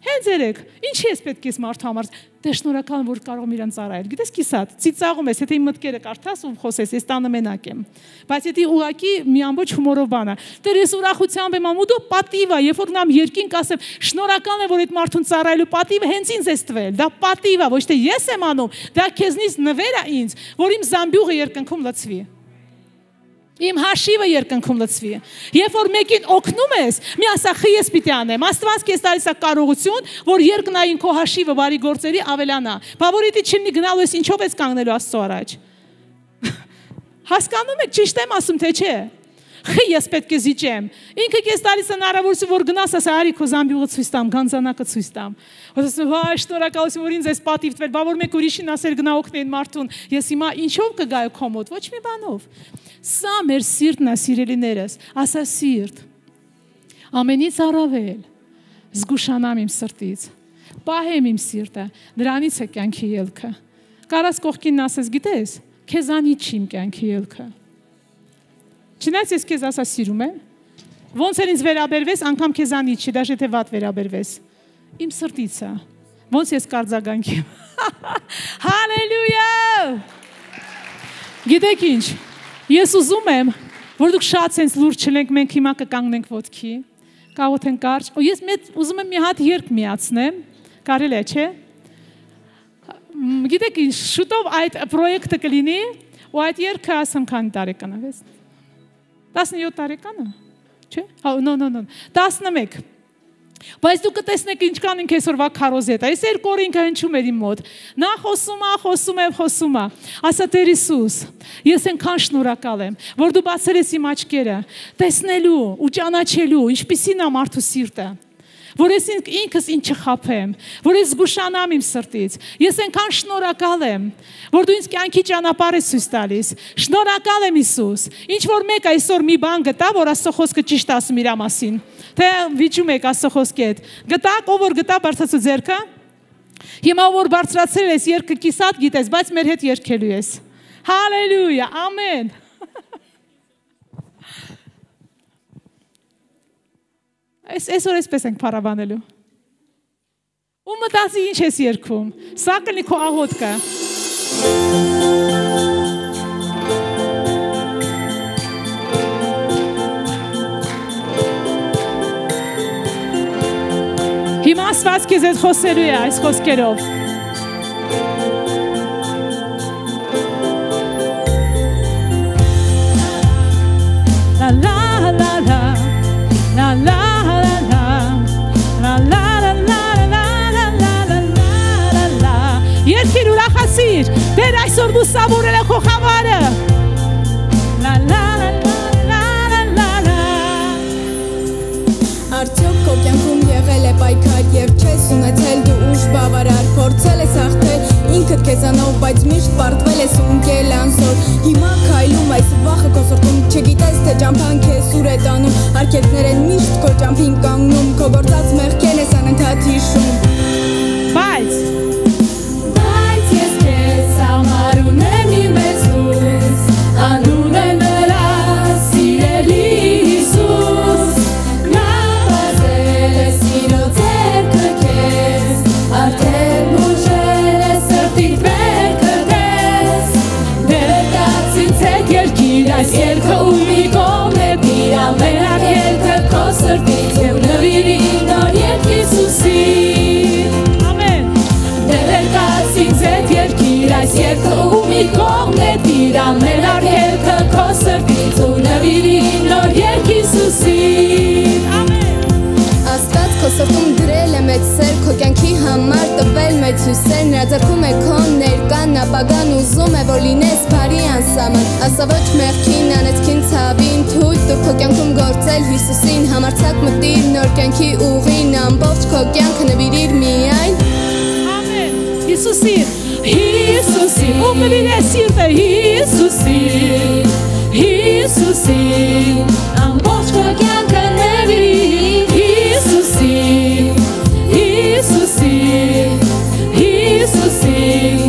Հենց երեք, ինչի ես պետք ես մարդու համար, դե շնորհակալ եմ, որ կարող եմ իրան ծառայել։ Գիտես կիսատ, ծիծաղում ես, եթե իմ մտքերը կարդաս ու խոսես, ես տանը մենակ եմ։ Բայց եթե ուղակի մի ամբողջ հումորով բան է, դեռ ես ուրախությամբ եմ անում, դու պատիվ է, երբ որ նամ երկինք ասեմ, շնորհակալ եմ, որ այդ մարդուն ծառայելու պատիվը հենց ինձ ես տվել։ Դա պատիվ է, ոչ թե ես եմ անում, դա քեզնից նվեր է ինձ, որ իմ զամբյուղը երկնքում լցվի։ Իմ հաշիվը երկնքում լցվի։ Երբ որ մեկին օգնում ես, մի ասա խի ես պիտի անեմ։ Աստված քեզ տալիս է կարողություն, որ երկնային քո հաշիվը բարի գործերի ավելանա։ Բավարիտի չլինի գնալու ես ինչով ես կանգնելու Աստծո առաջ։ Հասկանում եք, ճիշտ եմ ասում, թե չէ։ Խի ես պետք է զիջեմ։ Ինքը քեզ տալիս է հնարավորություն, որ գնաս ասա, արի քո զամբյուղը ցույց տամ, գանձանակը ցույց տամ։ Ասում վայ, շնորհակալություն, որ ինձ ես պատիվ տվել, բա որ մեկ ուրիշին ասել գնա օգնեն մարդուն։ Ես հիմա ինչով կգայ քո մոտ, ոչ մի բանով։ Սա մեր սիրտն է, սիրելիներս, ասա սիրտ։ Ամենից առավել զգուշանամ իմ սրտից։ Պահեմ իմ սիրտը, դրանից է կյանքի ելքը։ Կարաս կողքինն ասես, գիտես, քեզանից չի իմ կյանքի ելքը։ Չնայած ես քեզ ասա սիրում եմ, ոնց էլ ինձ վերաբերվես, անգամ քեզանից չի, դաժե թե վատ վերաբերվես։ Իմ սրտից է։ Ոնց ես կարձագանքի։ Հալելույա։ Գիտեք ինչ, ես ուզում եմ, որ դուք շատ sense լուրջ չլենք, մենք հիմա կկանգնենք ոտքի, կաղոթենք կարճ, ու ես ուզում եմ մի հատ երգ միացնեմ, կարելի է, չէ։ Գիտեք ինչ, շուտով այդ պրոյեկտը կլինի, ու այդ երգը ասեմ քանի տարեկան է, 17 տարեկան է, չէ։ No, 11։ Բայց դուք կտեսնեք ինչքան ինք այսօրվա քարոզետ է։ Այս երկու օր ինքը հնչում էր իմ մոտ։ Նա խոսում է։ Ասա Տեր Հիսուս, ես այնքան շնորհակալ եմ, որ դու բացել ես իմ աչքերը, տեսնելու ու ճանաչելու, ինչպիսին է մարդու սիրտը։ Որ ես ինքս ինչ չխափեմ, որ ես զգուշանամ իմ սրտից։ Ես այնքան շնորհակալ եմ, որ դու ինձ կյանքի ճանապարհ ես ցույց տալիս։ Շնորհակալ եմ Հիսուս։ Ինչ որ մեկ այսօր մի բան գտա, որ Աստծո խոսքը ճիշտ ասում իր մասին։ Թե վիճում եք Աստծո խոսքի հետ։ Գտակ, ով որ գտա բարձրացու ձեռքը։ Հիմա որ բարձրացրել ես երգը կիսատ գիտես, բայց մեր հետ երգելու ես։ Հալելույա, ամեն։ Այսօր էսպես ենք փառաբանելու։ Ու մտածի ինչ ես երգում։ Սա կլինի քո աղոթքը։ Հիմա Աստված քեզ հետ խոսելու է այս խոսքերով։ La la la la la la Երկիր ուրախացիր, դեր այսօր դու սավորել է քո խավարը։ La la la la la la la Արդյոք քո կյանքում եղել է պայքար եւ չես ունեցել դու ուժ բավարար, փորձել ես հաղթել ինքդ քեզանով, բայց միշտ պարտվել ես ու ընկել անզոր։ Հիմա քայլում այս վախը քո սրտում, չգիտես թե ճամփան քեզ ուր է տանում, արկելքներ են միշտ քո ճամփին կանգնում, քո գործած մեղքերն ես անընդհատ հիշում։ Բայց մեծ սեր քո կյանքի համար տվել մեծ հույսեր նրա ձեռքում է քո ներկան ապագան ուզում է որ լինես բարի անսահման ասա ոչ մեղքին անեծքին ցավին թույլ տուր քո կյանքում գործել Հիսուսին համարձակ մտիր նոր կյանքի ուղին ամբողջ քո կյանքը նվիրիր միայն Ամեն Հիսուսին Հիսուսին ով նվիրես սիրտը Հիսուսին Հիսուսին ամբողջ քո կյանքը նվիրիր Հիսուսին Հիսուսին Հիսուսին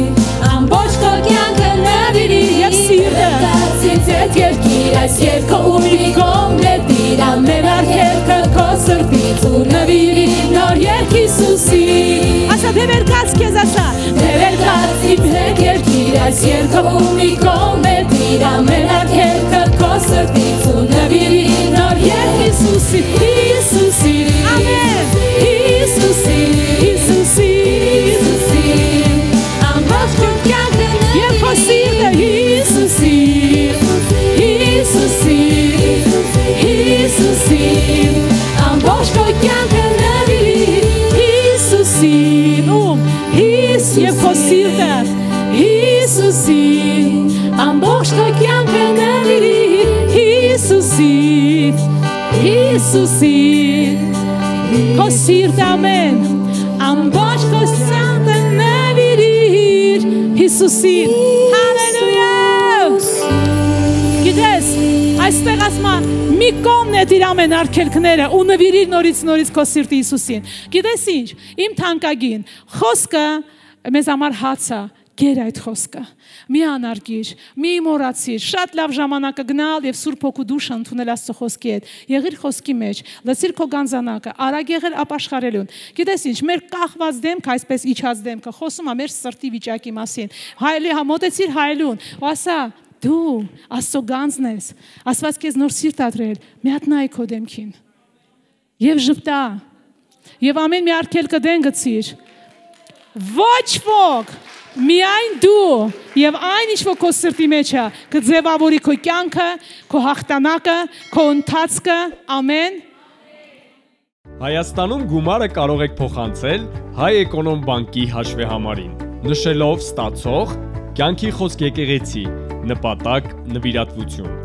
ամբողջ քո կյանքը նվիրիր եւ սիրտը կացից այդ երկիր այս երկը ուրի կողմն է դիր ամեն արգելքը քո սրտից ու նվիրիր նոր երկ Հիսուսին ասա դեր կաց քեզ ասա դեր կաց իմ հետ երկիր այս երկը ուրի կողմն է դիր ամեն արգելքը քո սրտից ու նվիրիր նոր երկ Հիսուսին Հիսուսին ամեն Հիսուսին Հիսուսին ամբողջ քո կյանքը եւ քո սիրտը Հիսուսին Հիսուսին Հիսուսին ամբողջ քո կյանքը նվիրիր Հիսուսին Հիս եւ քո սիրտը Հիսուսին ամբողջ քո կյանքը նվիրիր Հիսուսին Հիսուսին քո սիրտը ամեն ամբողջ քո սիրտը նվիրիր Հիսուսին հալելույա Գիտես այստեղ ասма մի կողմն է դիր ամեն արգելքները ու նվիրիր նորից քո սիրտը Հիսուսին Գիտես ինչ իմ թանկագին խոսքը մեզ համար հաց է Գեր այդ խոսքը, մի անարգիր, մի մոռացիր, շատ լավ ժամանակը գնալ եւ Սուրբ Հոգու դուշ ընդունել Աստծո խոսքի հետ։ Եղիր խոսքի մեջ, լսիր քո գանձանակը, արագ եղիր ապաշխարելուն։ Գիտես ինչ, մեր կախված դեմքը, այսպես իջած դեմքը, խոսում է մեր սրտի վիճակի մասին։ Հայելի համոտեցիր հայելուն, ու ասա դու Աստծո գանձն ես, Աստված քեզ նոր սիրտ ադրել, մի հատ նայ քո դեմքին։ Եվ ժպտա, եւ ամեն մի արգելքը դեն գցիր։ Ոչ ոք Միայն դու եւ այն ինչ որ քո սրտի մեջ է կձևավորի քո կյանքը, քո հաղթանակը, քո ընթացքը, ամեն։ Հայաստանում գումարը կարող եք փոխանցել Հայ Էկոնոմ բանկի հաշվեհամարին, նշելով ստացող, կյանքի խոսք եկեղեցի, նպատակ, նվիրատվություն։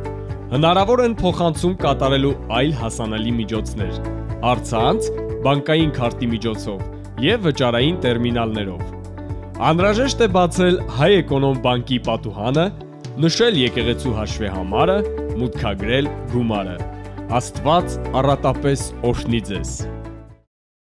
Հնարավոր են փոխանցում կատարելու այլ հասանելի միջոցներ, առցանց, բանկային քարտի միջոցով եւ վճարային տերմինալներով։ Անհրաժեշտ է բացել Հայ Էկոնոմ բանկի պատուհանը, նշել եկեղեցու հաշվեհամարը, մուտքագրել գումարը։ Աստված առատապես օրհնի ձեզ։